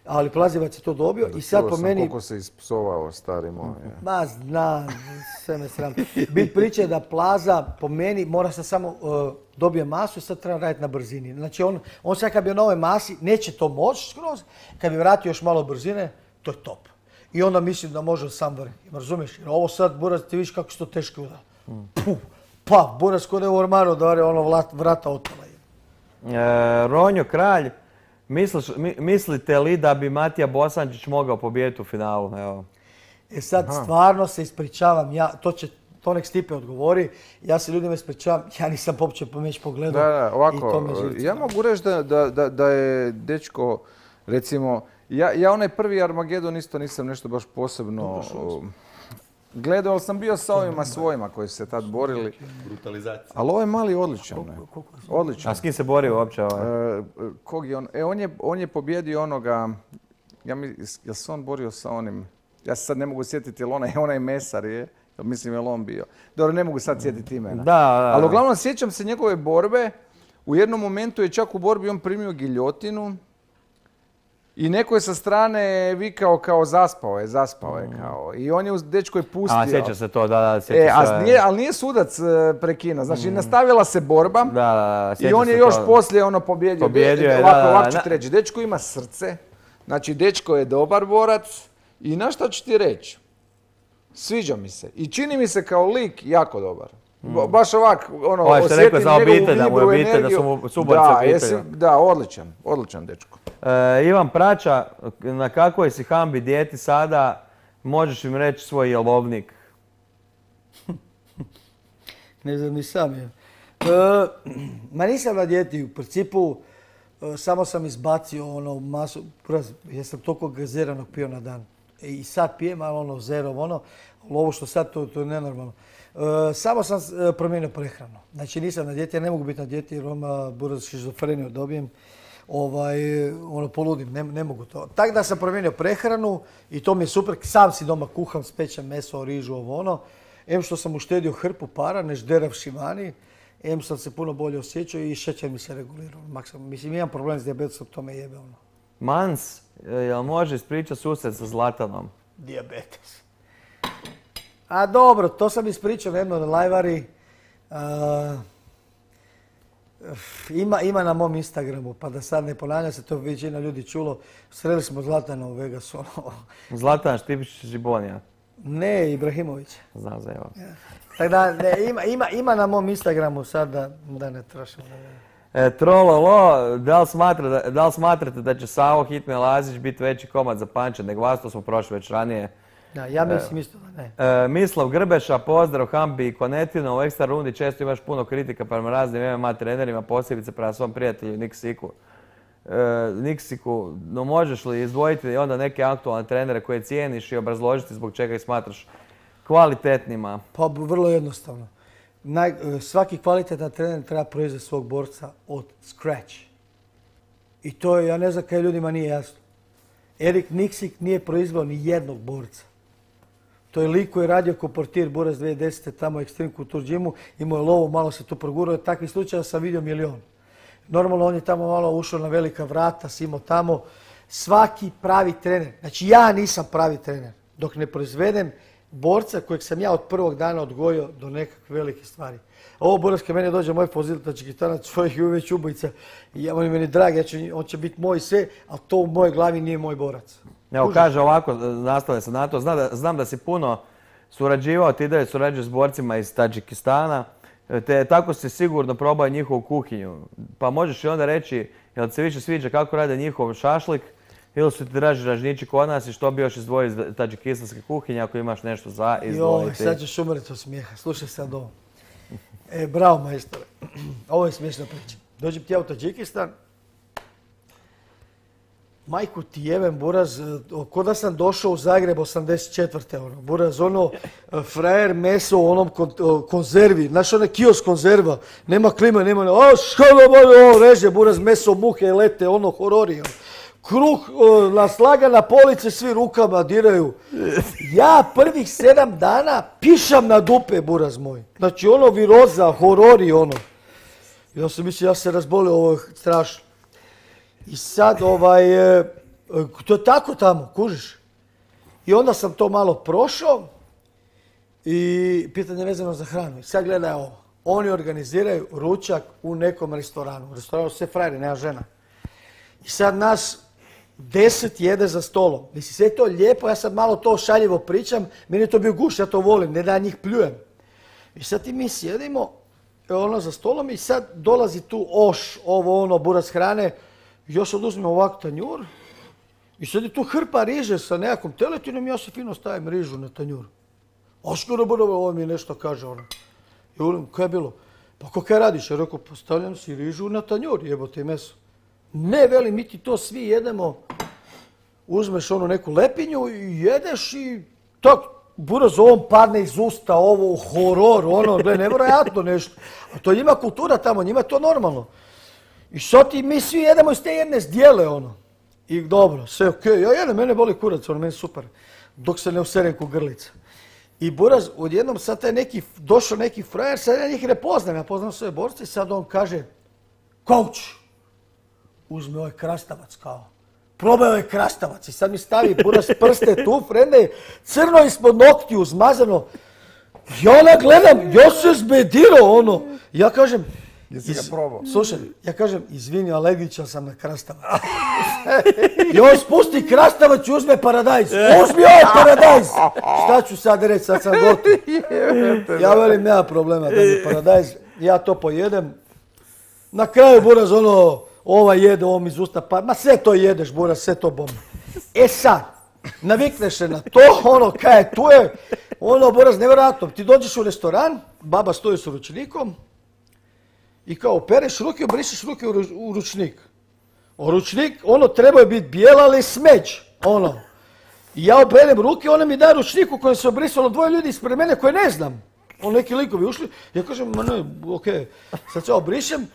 Ali Plazivac je to dobio i sad po meni... Koliko se ispsovao, stari moj. Ma znam, sve me sram. Bit priče je da Plaza po meni mora se samo dobije masu i sad treba raditi na brzini. Znači on sad kad bi na ovoj masi, neće to moći skroz, kad bi vratio još malo brzine, to je top. I onda mislim da može sam vrhiti, razumiješ? Jer ovo sad, Buraz, ti vidiš kako su to teški udar. Pa, Buraz kod je u ormaru da vrata otala. Ronjo Kralj, mislite li da bi Matija Bosančić mogao pobijediti u finalu? Evo. Sad stvarno se ispričavam, to nek Stipe odgovori, ja se ljudima ispričavam, ja nisam uopće meć pogledao. Da, ovako, ja mogu reći da je dečko, recimo, ja onaj prvi Armagedon isto nisam nešto baš posebno gledao, ali sam bio sa ovima svojima koji su se tad borili. Brutalizacija. Ali ovo je mali odličan. Odličan. A s kim se borio uopće Kog je on? On je pobjedio onoga, jel se on borio sa onim, ja se sad ne mogu sjetiti jel onaj mesar je, mislim jel on bio. Dobro, ne mogu sad sjetiti imena. Da. Ali uglavnom sjećam se njegove borbe, u jednom momentu je čak u borbi on primio giljotinu. I neko je sa strane vikao kao zaspao je kao. I on je dečko je pustio. A, sjeća se to, da, sjeća se. Ali nije sudac prekinuo. Znači, nastavila se borba. Da, i on je još poslije pobjedio. Ovako ću ti reći. Dečko ima srce. Znači, dečko je dobar borac. I na šta ću ti reći? Sviđa mi se. I čini mi se kao lik jako dobar. Baš ovak, osjetim njegovu vibru, energiju. Da, odličan dečko. Ivan Prača, na kakvoj si hambi dijeti sada, možeš im reći svoj jelovnik? Ne znam ni sam. Ma nisam na dijeti, u principu samo sam izbacio masu, ja sam toliko gaziranog pio na dan. I sad pijem, ali ono zero, ono, ali ovo što sad, to je nenormalno. Samo sam promijenio prehranu. Znači nisam na dijeti, ja ne mogu biti na dijeti jer buraz šizofreniju dobijem. Ono poludim, ne mogu to. Tako da sam promijenio prehranu i to mi je super. Sam si doma kuham, spečem meso, rižu, ovo ono. Em što sam uštedio hrpu para, ne žderavši vani. Em sam se puno bolje osjećao i šećer mi se regulirao. Mislim, imam problem s dijabetesom, to me jebe ono. Mans, jel može ispričati susret sa Zlatanom? Dijabetes. A dobro, to sam ispričao na jednoj lajvari. Ima na mom Instagramu, pa da sad ne ponavljam se, to većina ljudi čulo. Sreli smo Zlatana u Vegasu. Zlatan Štipić Žibonija. Ne, Ibrahimović. Znam za evo. Tako da, ima na mom Instagramu sad da ne trošimo. Trololo, da li smatrate da će Savo Hitme Lazić biti veći komad za Panča nego vas? To smo prošli već ranije. Da, ja mislim isto da ne. Mislav Grbeša, pozdrav Hambi i Konetino. U ekstra rundi često imaš puno kritika prema raznim MMA trenerima, posebice prema svom prijatelju Niksiku. No možeš li izdvojiti onda neke aktualne trenere koje cijeniš i obrazložiti zbog čega ih smatraš kvalitetnima? Pa vrlo jednostavno. Svaki kvalitetan trener treba proizvesti svog borca od scratch. I to ja ne znam kaj ljudima nije jasno. Erik Niksik nije proizveo ni jednog borca. To je lik koji je radio ko portir Buraz 2010. tamo u Extreme Couture Gymu, imao je lovu, malo se tu progurao, takvih slučaja sam vidio milion. Normalno on je tamo malo ušao na velika vrata, imao tamo. Svaki pravi trener, znači ja nisam pravi trener, dok ne proizvedem borca kojeg sam ja od prvog dana odgojio do nekakve velike stvari. Ovo Buraz kad meni dođe moj poziltač gitanac, čovjek je već ubojica, on je meni drag, on će biti moj sve, ali to u mojoj glavi nije moj borac. Evo kaže ovako, nastavljam se na to, znam da si puno surađivao, ti dalje surađuješ s borcima iz Tadžikistana, te tako si sigurno probao njihovu kuhinju. Pa možeš i onda reći, jel ti se više sviđa kako rade njihov šašlik, ili su ti draži ražnjići kod nas i što bi još izdvojio iz tadžikistanske kuhinje ako imaš nešto za izdvojiti? Sad ćeš umreti od smijeha, slušaj sad ovo. Bravo majstore, ovo je smiješna priča. Dođem ti ja u Tadžikistan, majku ti jebem, Buraz, ko da sam došao u Zagreb 84. Buraz, frajer meso u onom konzervi, znaš onaj kiosk konzerva, nema klima, nema, reže, Buraz, meso, muhe, lete, horori. Kruh naslaga na police, svi rukama diraju. Ja prvih 7 dana pišam na dupe, Buraz moj. Znači viroza, horori, Ja sam mislio, ja se razbolio, ovo je strašno. I sad, to je tako tamo, kužiš. I onda sam to malo prošao i pitanje vezano za hranu. I sad gledaj ovo. Oni organiziraju ručak u nekom restoranu. U restoranu sve frajeri, nema žena. I sad nas 10 jede za stolom. Mislim, sve je to lijepo, ja sad malo to šaljivo pričam. Meni je to bio guš, ja to volim, ne da ja njih pljujem. I sad mi sjedimo za stolom i sad dolazi tu Buraz hrane. Još oduzmem ovak tanjur i sad je tu hrpa riže sa nekakvom teletinom i ja se fino stavim rižu na tanjur. Ovo mi nešto kaže I volim, kaj je bilo? Pa kaj radiš? Ja rekao, postavljam si rižu na tanjur, jebote meso. Ne, veli, mi ti to svi jedemo, uzmeš neku lepinju i jedeš i tako, Buraz, ovom padne iz usta, horor, nevjerojatno nešto. A to je njima kultura tamo, njima je to normalno. I sad mi svi jedemo iz te jedne zdjele, I dobro, sve okej, ja jedem, mene boli kurac, meni super. Dok se ne userem ko grlica. I Buraz, odjednom sad došao neki frajer, sad ja njih ne poznam, ja poznam sve borce i sad on kaže, coach, uzme ovaj krastavac kao. Probaj ovaj krastavac i sad mi stavi Buraz prste tu, frende, crno ispod noktiju, zmazano. Ja gledam, ja se zbedirao, Ja kažem, jesi ga probao? Slušaj, ja kažem, izvini, alergičan sam na krastavac. I on spusti krastavac i uzme paradajz. Uzmi ovaj paradajz! Šta ću sad reći, sad sam gotov. Ja velim, nema problema da mi paradajz, ja to pojedem. Na kraju Buraz jede, mi iz usta, ma sve to jedeš, Buraz, sve to bomba. E sad, navikneš se na to, kaj je tu je, Buraz, nevjerojatno. Ti dođeš u restoran, baba stoji s ručnikom, i kao opereš ruke, obrišeš ruke u ručnik. Ručnik, trebao je biti bijel, ali smeđ. I ja operem ruke, ona mi da ručnik u kojem se obrisalo 2 ljudi ispred mene koje ne znam. Neki likovi ušli, ja kažem, ma ne, okej, sad se obrišem.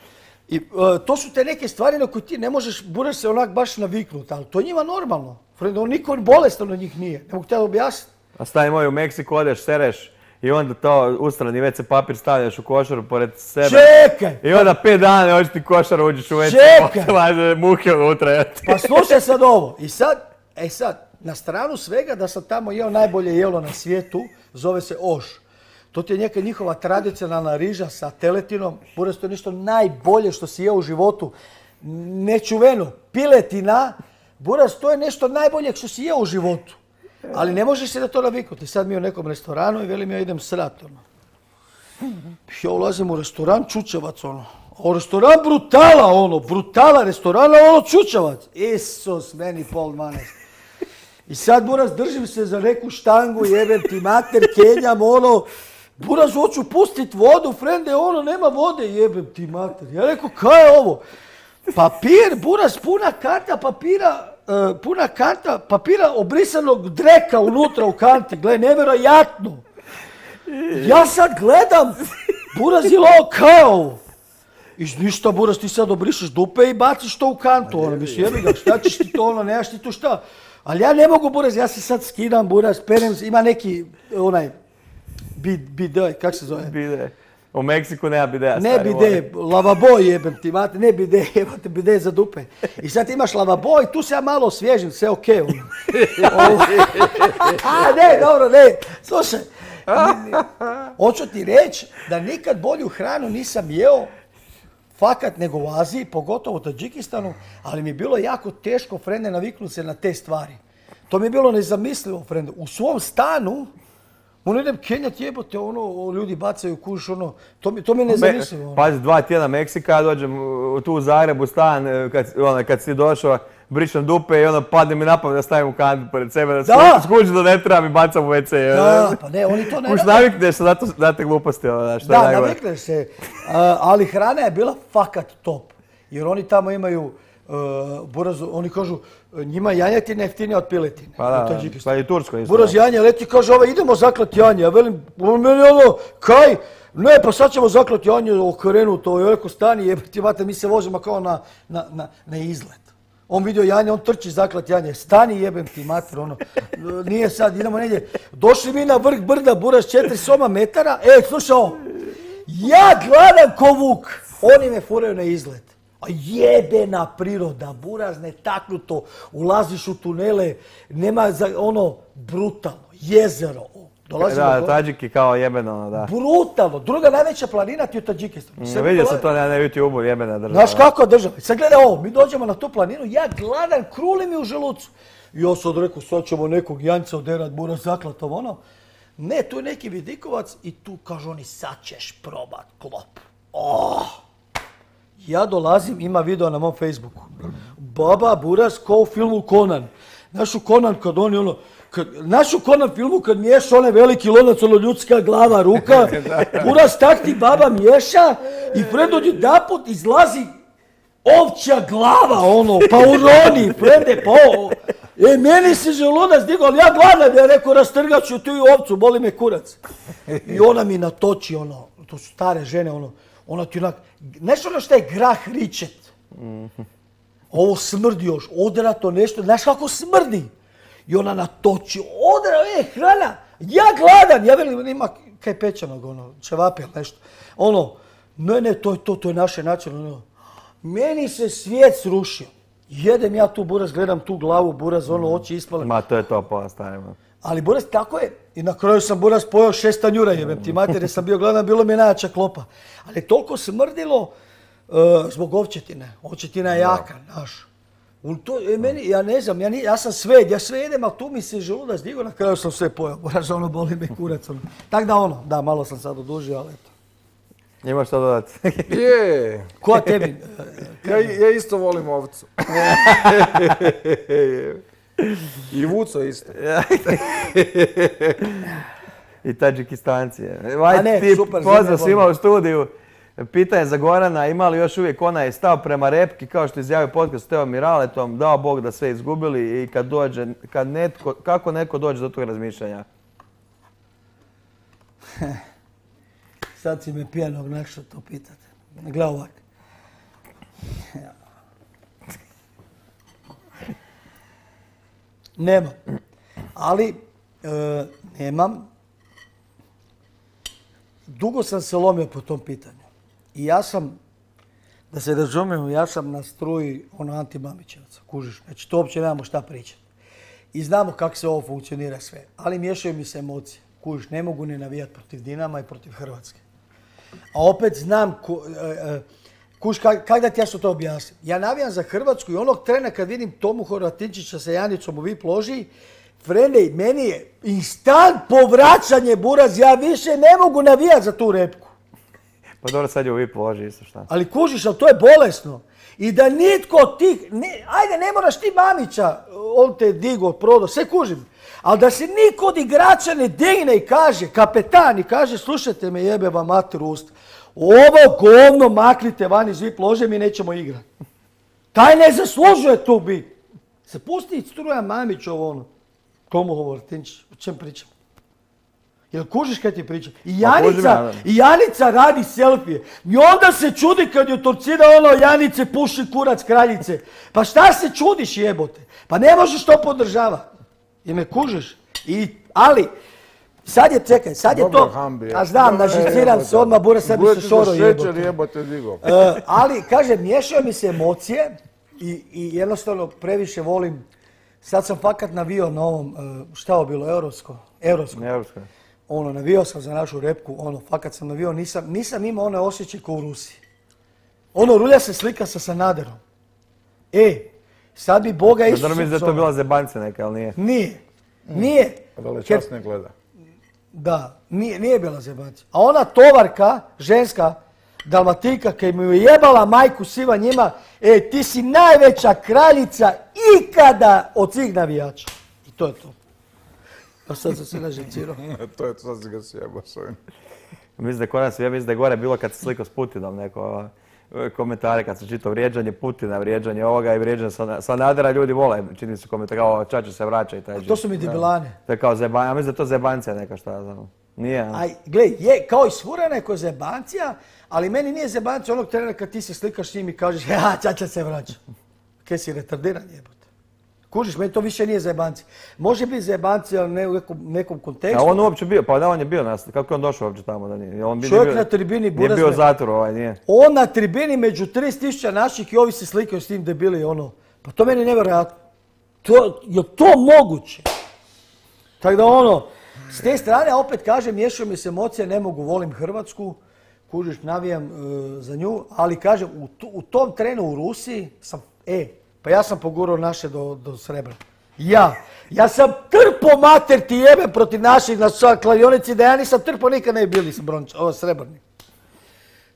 I to su te neke stvari na koje ti ne možeš, budeš se onak baš naviknut, ali to je njima normalno. Niko bolestan od njih nije, ne mogu te objasniti. A stavimo u Meksiku, odeš, sereš i onda to ustrani WC papir stavljaš u košaru pored sebe. Čekaj! I onda 5 dana hoćeš ti košaru, uđeš u WC, čekaj! Muhe unutra. Pa slušaj sad ovo. I sad, na stranu svega da sam tamo jeo najbolje jelo na svijetu, zove se oš. To ti je neka njihova tradicionalna riža sa teletinom. Buraz, to je nešto najbolje što si jeo u životu. Nečuveno. Piletina. Buraz, to je nešto najbolje što si jeo u životu. Ali ne možeš se da to naviknuti. Sad mi u nekom restoranu i velim ja idem srat. Ja ulazim u restoran Čučevac. A restoran Brutala. Brutala restorana, Čučevac. Isus, meni pol 12. I sad, Buraz, držim se za neku štangu, jebem ti mater, kenjam, Buraz, hoću pustit vodu, frende, nema vode, jebem ti mater. Ja rekao, kaj je ovo? Papir, Buraz, puna kanta papira obrisanog dreka unutra u kanti. Gle, nevjerojatno. Ja sad gledam, Buraz, je li ovo kaj je ovo? I ništa, Buraz, ti sad obrišeš dupe i baciš to u kantu. Mislim, jebi ga, šta ćeš ti to, nemaš ti tu šta? Ali ja ne mogu, Buraz, ja se sad skidam, Buraz, perem, ima neki, bide, kak se zove? Bide. U Meksiku nema bideja. Ne bide, lavabo jebem ti, ne bide, jebate bide za dupe. I sad imaš lavabo i tu se ja malo osvježim, sve okej. Ne, dobro, ne, slušaj. Hoću ti reći da nikad bolju hranu nisam jeo, fakat, nego u Aziji, pogotovo u Tadžikistanu, ali mi je bilo jako teško, frende, naviknuti se na te stvari. To mi je bilo nezamislivo, frende. U svom stanu, idem kenjat, jebote, ljudi bacaju kuš, to mi je nezamislivo. Pazi, 2 tjedna Meksika, ja dođem tu u Zagrebu stan, kad si došao, brišem dupe i padne mi napamet da stavim u kantu pored sebe, da skuđi da ne treba mi bacam u WC. Da, pa ne, oni to ne... Kuš navikneš se da te gluposti, što je najgore. Da, navikneš se, ali hrana je bila fakat top, jer oni tamo imaju, Buraz, oni kažu, njima janjetina jeftinija od piletine. Pa da, pa i Tursko isto. Buraz janje leti, kaže, idemo zaklati janje, ja velim, meni kaj? Ne, pa sad ćemo zaklati janje, okrenuti, ja rekao, stani, jebati, mi se vozimo kao na izlet. On vidio janje, on trči zaklat janje. Stani, jebem ti mater, nije sad, idemo negdje. Došli mi na vrh brda, Buraz, 4 metara. Slušaj ovo. Ja gladan ko vuk. Oni me furaju na izlet. A jebena priroda, Buraz, netaknuto. Ulaziš u tunele, nema brutalno. Jezero. Da, Tadžiki kao jebeno, da. Brutalno. Druga najveća planina ti je u Tadžikistanu. Vidio sam to na YouTube-u, jebena država. Znaš kako država? Sad gledaj ovo, mi dođemo na tu planinu, ja gladan, kruli mi u želucu. I ja sad rekao, sad ćemo nekog janjca oderat, Buraz, zaklatom, Ne, tu je neki vidikovac i tu kažu oni, sad ćeš probat klop. Ja dolazim, ima video na mom Facebooku. Baba, Buraz, ko u filmu Conan. Znaš u Conan kad oni Naš u Conan filmu kad miješa onaj veliki lonac, ljudska glava, ruka, Buraz tak ti baba miješa i pred odjedanput izlazi ovčja glava, pa uroni, prede, pa meni se želudac digao, ali ja gladan, ja rekao, rastrgat ću tu i ovcu, boli me kurac. I ona mi natoči, to su stare žene, ona ti onak, znaš što je grah ričet? Ovo smrdi još, odrato nešto, znaš kako smrdi? I ona natoči, hrana, ja gladan, ja velim, ima kaj pečenog, čevape ili nešto. Ne, to je naše način, meni se svijet srušio. Jedem ja tu, Buraz, gledam tu glavu, Buraz, oči ispale. Ma, to je to, postavimo. Ali, Buraz, tako je. I na kraju sam, Buraz, pojeo 6 tanjura, jebem ti mater, jer sam bio gladan, bilo mi najjača klopa. Ali toliko smrdilo zbog ovčetine. Ovčetina je jaka, znaš. Ja ne znam, ja sam sved, ja sve jedem, ali tu mi se želudac digao, na kraju sam sve pojeo. Buraz, boli me kurac. Tak da, malo sam sad odužio, ali eto. Imaš što dodati? Je. Ko tebi? Ja isto volim ovcu. I Vuco isto. I Tadžikistanci. A ne, super. Pozdrav svima u studiju. Pitanje za Gorana, ima li još uvijek onaj stav prema repki, kao što je izjavio podcast s Teom Miraletom, dao Bog da sve izgubili i kako netko dođe do tog razmišljanja? Sad si me pijanog našao to pitate. Gle ovak. Nemam. Ali, nemam. Dugo sam se lomio po tom pitanju. I ja sam, da se razumijemo, ja sam na struji anti-Mamićevaca, kužiš. Znači, to uopće nemamo šta pričati. I znamo kako se ovo funkcionira sve. Ali miješaju mi se emocije. Kužiš, ne mogu ne navijati protiv Dinama i protiv Hrvatske. A opet znam, kužiš, kako da ti ja što to objasnim? Ja navijam za Hrvatsku i onog trena kad vidim Tomu Horvatinčića sa Janicom u VIP loži, Frende, meni je instant povraćanje buraz, ja više ne mogu navijati za tu repku. Pa dobro, sad je u VIP loži isto šta. Ali kužiš, ali to je bolesno. I da nitko od tih, ajde ne moraš ti Mamića, on te digo, prodao, sve kužim. Ali da se niko od igrača ne digne i kaže, kapetan, i kaže, slušajte me, jebe vam mater ust, ovo govno maknite van iz VIP lože, mi nećemo igrati. Taj ne zaslužuje tu biti. Se pusti struja Mamićov ono. Komu Horvatinčić, o čem pričam? Jel kužiš kaj ti pričam? I Janica radi selfije. I onda se čudi kad je torcida Janice puši kurac kraljice. Pa šta se čudiš jebote? Pa ne možeš to podržavati. I me kužiš. Ali, sad je, čekaj, sad je to... A znam, nažiciram se odmah, bura sad bi se šoro jebote. Ali, kažem, miješaju mi se emocije i jednostavno previše volim. Sad sam fakat navio na ovom, šta je bilo, Europsko. Navio sam za našu repku, fakat sam navio, nisam imao onaj osjećaj kao u Rusiji. Rulja se slika sa Sanaderom. Sad bi Boga Isusa... Zato mislim da je to bila zebanca neka, ali nije? Nije. Velečast ne gleda. Da, nije bila zebanca. A ona tovarka, ženska, Dalmatinka, kaj mu je jebala majku siva njima, ti si najveća kraljica ikada od svih navijača. I to je to. A sad sam se naživcirao. To je to, sad si ga sjebao s ovim. Mislim da je gore bilo kad se slikao s Putinom neko komentare, kad se čitao vrijeđanje Putina, vrijeđanje ovoga i vrijeđanje Sanadera, ljudi vole, čini se komentar kao Čače se vraća i taj to su mi debilane. To je kao zebancija, ja mislim da je to zebancija neka šta znam. Nije. Gle, je kao i svura neko zebancija, ali meni nije zebancija onog trena kad ti se slikaš s njim i kažeš Čača se vraća. Kaj si retardiran jebote. Kužiš, meni to više nije zebancija. Može biti zebancija, ali ne u nekom kontekstu. A on uopće bio, pa da on je bio nas, kako je on došao uopće tamo da nije? Čovjek na tribini buraz. Nije bio u zatvoru, nije. On na tribini među 30.000 naših i ovi se slikaju s tim debili, Pa to meni je nevjerojatno. Je to moguće? Tako da s te strane opet kažem, miješaju mi se emocije, ne mogu, volim Hrvatsku, kužiš, navijam za nju, ali kažem, u tom trenu u Rusiji sam, pa ja sam pogurao naše do srebra. Ja sam trpo mater ti jebe protiv naših na kladionici, da ja nisam trpo nikad ne bili srebrni.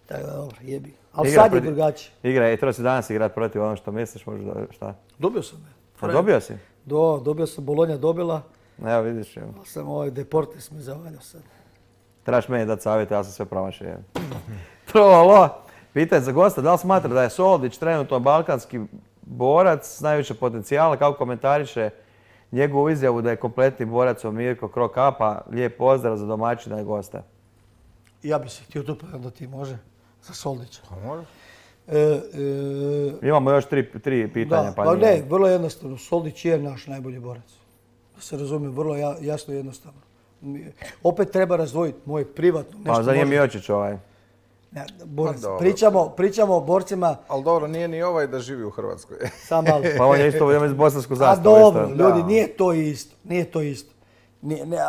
Tako da dobro, jebi. Ali sad je drugačije. Igra, treba si danas igrat protiv ono što misliš, možda šta? Dobio sam me. A dobio si? Dobio sam, Bolonja dobila. Evo vidiš. Sam Deportes me zavaljao sad. Trebaš meni dati savjete, ja sam sve promašio. Trolo, pitanje za gosta, da li smatra da je Soldić trenutno balkanski borac s najviše potencijala, kako komentariše njegovu izjavu da je kompletni borac Mirko Krokapa, lijep pozdrav za domaćina i gosta. Ja bi se htio tu da ti može, za Soldića. Može. Imamo još tri pitanja. Pa ne, vrlo jednostavno, Soldić je naš najbolji borac. Da se razumije, vrlo jasno i jednostavno. Opet treba razdvojiti moje privatno. Pa za nje Miočić ovaj. Pričamo o borcima... Ali dobro, nije ni ovaj da živi u Hrvatskoj. Sam malo. Pa on je isto iz bosansku zastavu. A dobro, ljudi, nije to isto.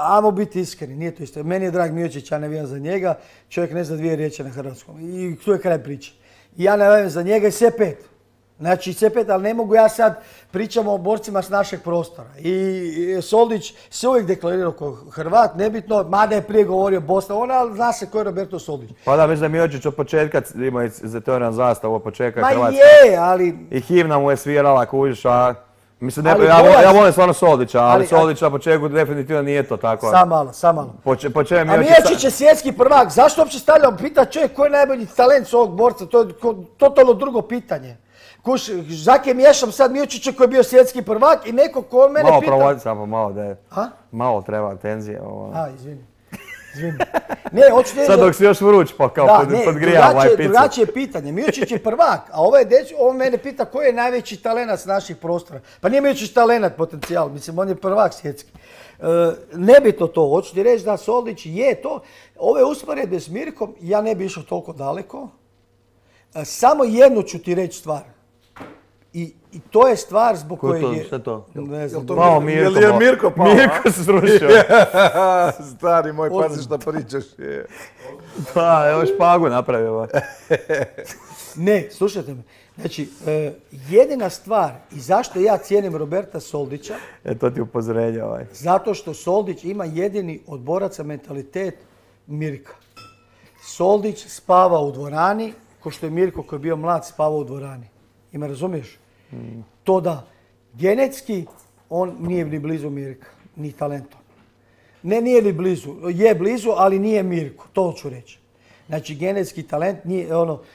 Ajmo biti iskreni, nije to isto. Meni je drag Miočić, ja ne vijam za njega. Čovjek ne zna dvije riječi na hrvatskom. I tu je kraj priče. Ja ne vijam za njega i sve pet. Znači sve pet, ali ne mogu ja sad, pričamo o borcima s našeg prostora. I Soldić se uvijek deklarirao kao Hrvat, nebitno, mada je prije govorio Bosna, ali zna se ko je Roberto Soldić. Pa da, mislim da Miočić od početka ima teorijan zastavu od početka Hrvatske. Ma je, ali... I himna mu je svirala, kužiš, a Mislim, Ali ja volim stvarno Soldića, ali Soldić na početku definitivno nije to tako. Sam malo. Po čemu A Miocić je svjetski prvak, zašto uopće stavljamo pita čovjek koji je najbolji talent ovog borca, to je totalno drugo pitanje. Kuš, Žake miješam sad Miocića koji je bio svjetski prvak i neko ko od mene pita... Malo provodi samo, malo da je. Malo treba tenzije. Izvini. Ne, hoću reći... Sad dok si još vruć pa kao podgrija ovaj picu. Drugačije pitanje. Miocić je prvak, a on mene pita koji je najveći talenat s naših prostora. Pa nije Miocić talenat potencijal, mislim on je prvak svjetski. Nebitno to, hoću ti reći da Soldić je to. Ove usporedbe s Mirkom, ja ne bi išao toliko daleko. Samo jednu ću ti reći stvar. I to je stvar zbog koje je... Šta to? Ne znam. Malo Mirko. Je Mirko pao? Mirko se srušio. Stari moj, pazi šta pričaš. Pa, evo špagu napravio. Ne, slušajte me. Znači, jedina stvar i zašto ja cijenim Roberta Soldića... To ti upozorenje ovaj. Zato što Soldić ima jedini od boraca mentalitet Mirka. Soldić spava u dvorani, ko što je Mirko koji je bio mlad spavao u dvorani. I me razumiješ? To da genetski on nije ni blizu Mirka, ni talentom. Ne, nije ni blizu. Je blizu, ali nije Mirko, to ću reći. Znači, genetski talent nije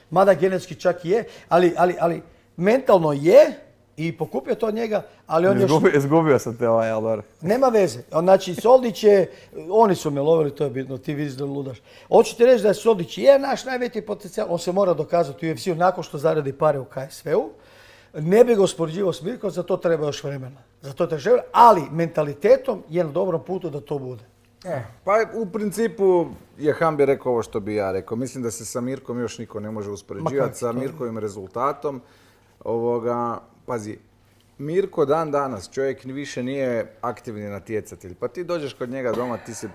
mada genetski čak i je, ali mentalno je i pokupio to od njega, ali on još... Izgubio sam te Aldor. Nema veze. Znači, Soldić je, oni su me lovili, to je bitno, ti vidiš da ludaš. Hoću ti reći da je Soldić je naš najveći potencijal, on se mora dokazati u UFC-u nakon što zaradi pare u KSV-u. Ne bi ga uspoređivao s Mirkom, za to treba još vremena. Ali mentalitetom je na dobrom putu da to bude. Pa u principu je Hambi rekao ovo što bi ja rekao. Mislim da se sa Mirkom još niko ne može uspoređivati sa Mirkovim rezultatom. Pazi, Mirko dan danas, čovjek više nije aktivni natjecatelj. Pa ti dođeš kod njega doma, ti se...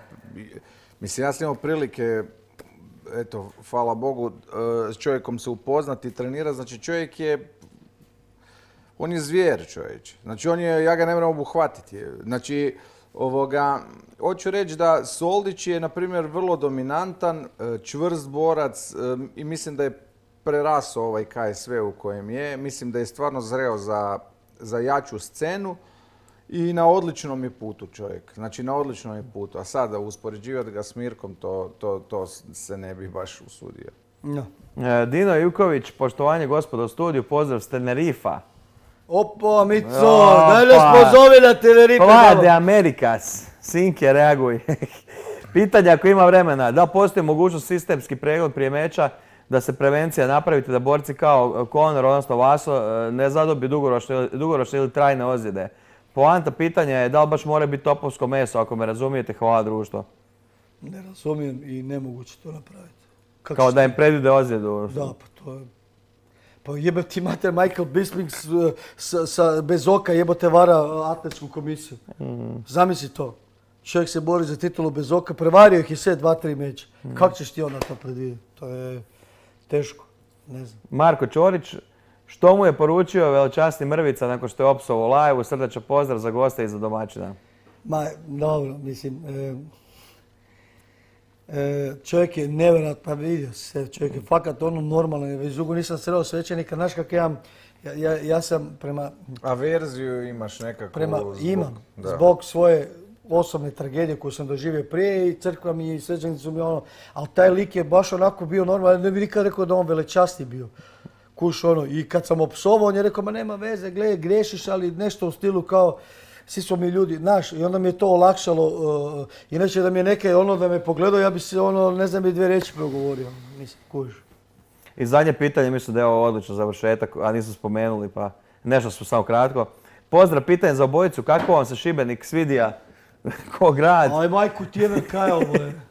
Mislim, ja sam imao prilike, eto, hvala Bogu, s čovjekom se upoznati i trenirati. Znači, čovjek je... On je zvijer, čovječe. Znači, ja ga ne moram obuhvatiti. Znači, hoću reći da Soldić je, na primjer, vrlo dominantan, čvrst borac i mislim da je prerasao ovaj KSV u kojem je. Mislim da je stvarno zreo za jaču scenu i na odličnom je putu čovjek. Znači, na odličnom je putu. A sada uspoređivati ga s Mirkom, to se ne bi baš usudio. No. Dino Juković, poštovanje gospodo u studiju, pozdrav s Tenerifa. Opa, Mico, daj nas pozovi na Tenerife. Plade Amerikas, Sinke, reaguj. Pitanje ako ima vremena, da postoji mogućnost sistemski pregled prije meča, da se prevencija napraviti, da borci kao Conor, odnosno Vaso, ne zadobiju dugoročne ili trajne ozljede. Poanta pitanja je da li baš mora biti topovsko meso, ako me razumijete, hvala društvo. Ne razumijem i nemoguće to napraviti. Kao da im predvide ozljedu. Da, pa to je... Pa jebate ti mater Michael Bisping bez oka jebote vara atletsku komisiju. Zamisli to. Čovjek se bori za titulu bez oka, prevario ih je sve 2-3 meča. Kako ćeš ti onda to predvidjeti? To je teško. Ne znam. Marko Ćorić, što mu je poručio velečasni Mrvica nakon što je opsovao live-u? Srdačan pozdrav za goste i za domaćina. Ma, dobro, mislim... čovjek je nevjerojatno, pa vidio se, čovjek je fakat normalan, već dugo nisam sreo svećenika, znaš kak ja sam prema... Averziju imaš nekako? Imam, zbog svoje osobne tragedije koju sam doživio prije i crkva mi i svećenici su mi ali taj lik je baš onako bio normalan, ne bih nikad rekao da on velečasni bio. Kuš i kad sam opsovao, on je rekao, ma nema veze, gledaj, griješiš, ali nešto u stilu kao, svi smo mi ljudi, znaš, i onda mi je to olakšalo. Inače da mi je neke da me pogledao, ja bi se ne znam, 2 riječi progovorio. Mislim, kužiš. I zadnje pitanje, mislim da je ovo odlično završetak, a nisam spomenuli, pa nešto smo samo kratko. Pozdrav, pitanje za obojicu, kako vam se Šibenik svidija ko grad? Aj majku ti jedan kajal, boje.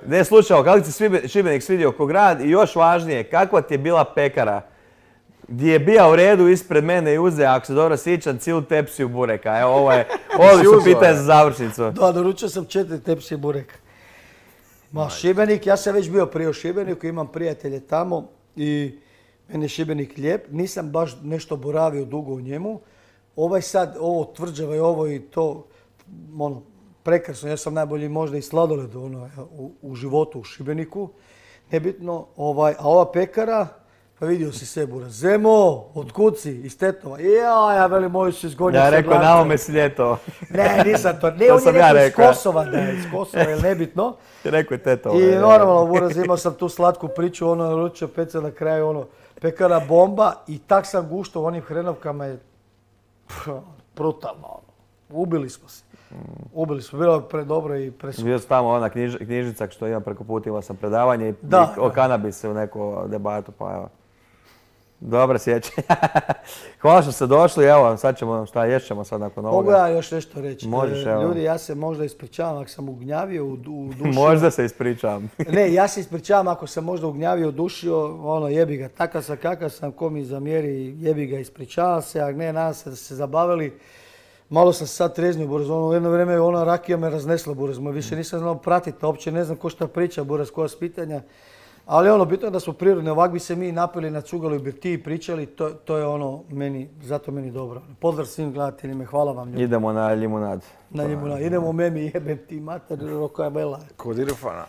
Ne, slušao, kako ti se Šibenik svidio ko grad i još važnije, kakva ti je bila pekara? Gdje je bio u redu ispred mene i uzeo, ako se dobro sjećam, cijelu tepsiju bureka. Evo, ovo su pitanje za završnicu. Da, naručio sam 4 tepsije bureka. Ma, Šibenik, ja sam već bio prije u Šibeniku, imam prijatelje tamo i meni je Šibenik lijep. Nisam baš nešto boravio dugo u njemu. Ovo tvrđava i ovo i to, prekrasno. Ja sam najbolji možda i sladoled u životu u Šibeniku. Nebitno, a ova pekara, Pa vidio si se, buraz. Zemo, otkud si? Iz Tetova. Ja velim, moju si izgonio. Ja rekao, na ovome si ljeto. Ne, nisam to. Ne, To on je sam ja rekao iz rekao. Kosova, da je iz Kosova, je nebitno. Rekao je teto. I normalno, buraz, imao sam tu slatku priču, ono, ručio peca na kraju, ono, pekara bomba i tak sam guštao u onim hrenovkama je brutalno, ono. Ubili smo se. Ubili smo, bilo je predobro i preskupo. Bio sam tamo ona knjižnica što imam preko puta, imao sam predavanje i o kanabisu u neku debatu, pa evo. Dobro sjećanje. Hvala što ste došli, evo sad ćemo, šta ješćemo sad nakon ovoga. Mogu ja još nešto reći? Možeš, evo. Ljudi, ja se možda ispričavam ako sam ugnjavio u duši. Možda se ispričavam. Ne, ja se ispričavam ako sam možda ugnjavio, dušio, ono, jebi ga, takav sam kakav sam, ko mi zamjeri, jebi ga, ispričavam se, a ne, nadam se da ste se zabavili. Malo sam se sad treznio, buraz, ono, jedno vrijeme ona rakija me raznesla, buraz, više nisam znao pratiti, uopće ne znam ko šta priča, buraz, koja s pitanja. Ali ono, bitno je da smo prirodni, ovak bi se mi napili na cugalu i birtiji i pričali, to je ono, zato meni dobro. Pozdrav svim gledateljima, hvala vam ljudi. Idemo na limunad. Na limunad, idemo memi, jebem ti mater, roka je bela. Kod Irfana.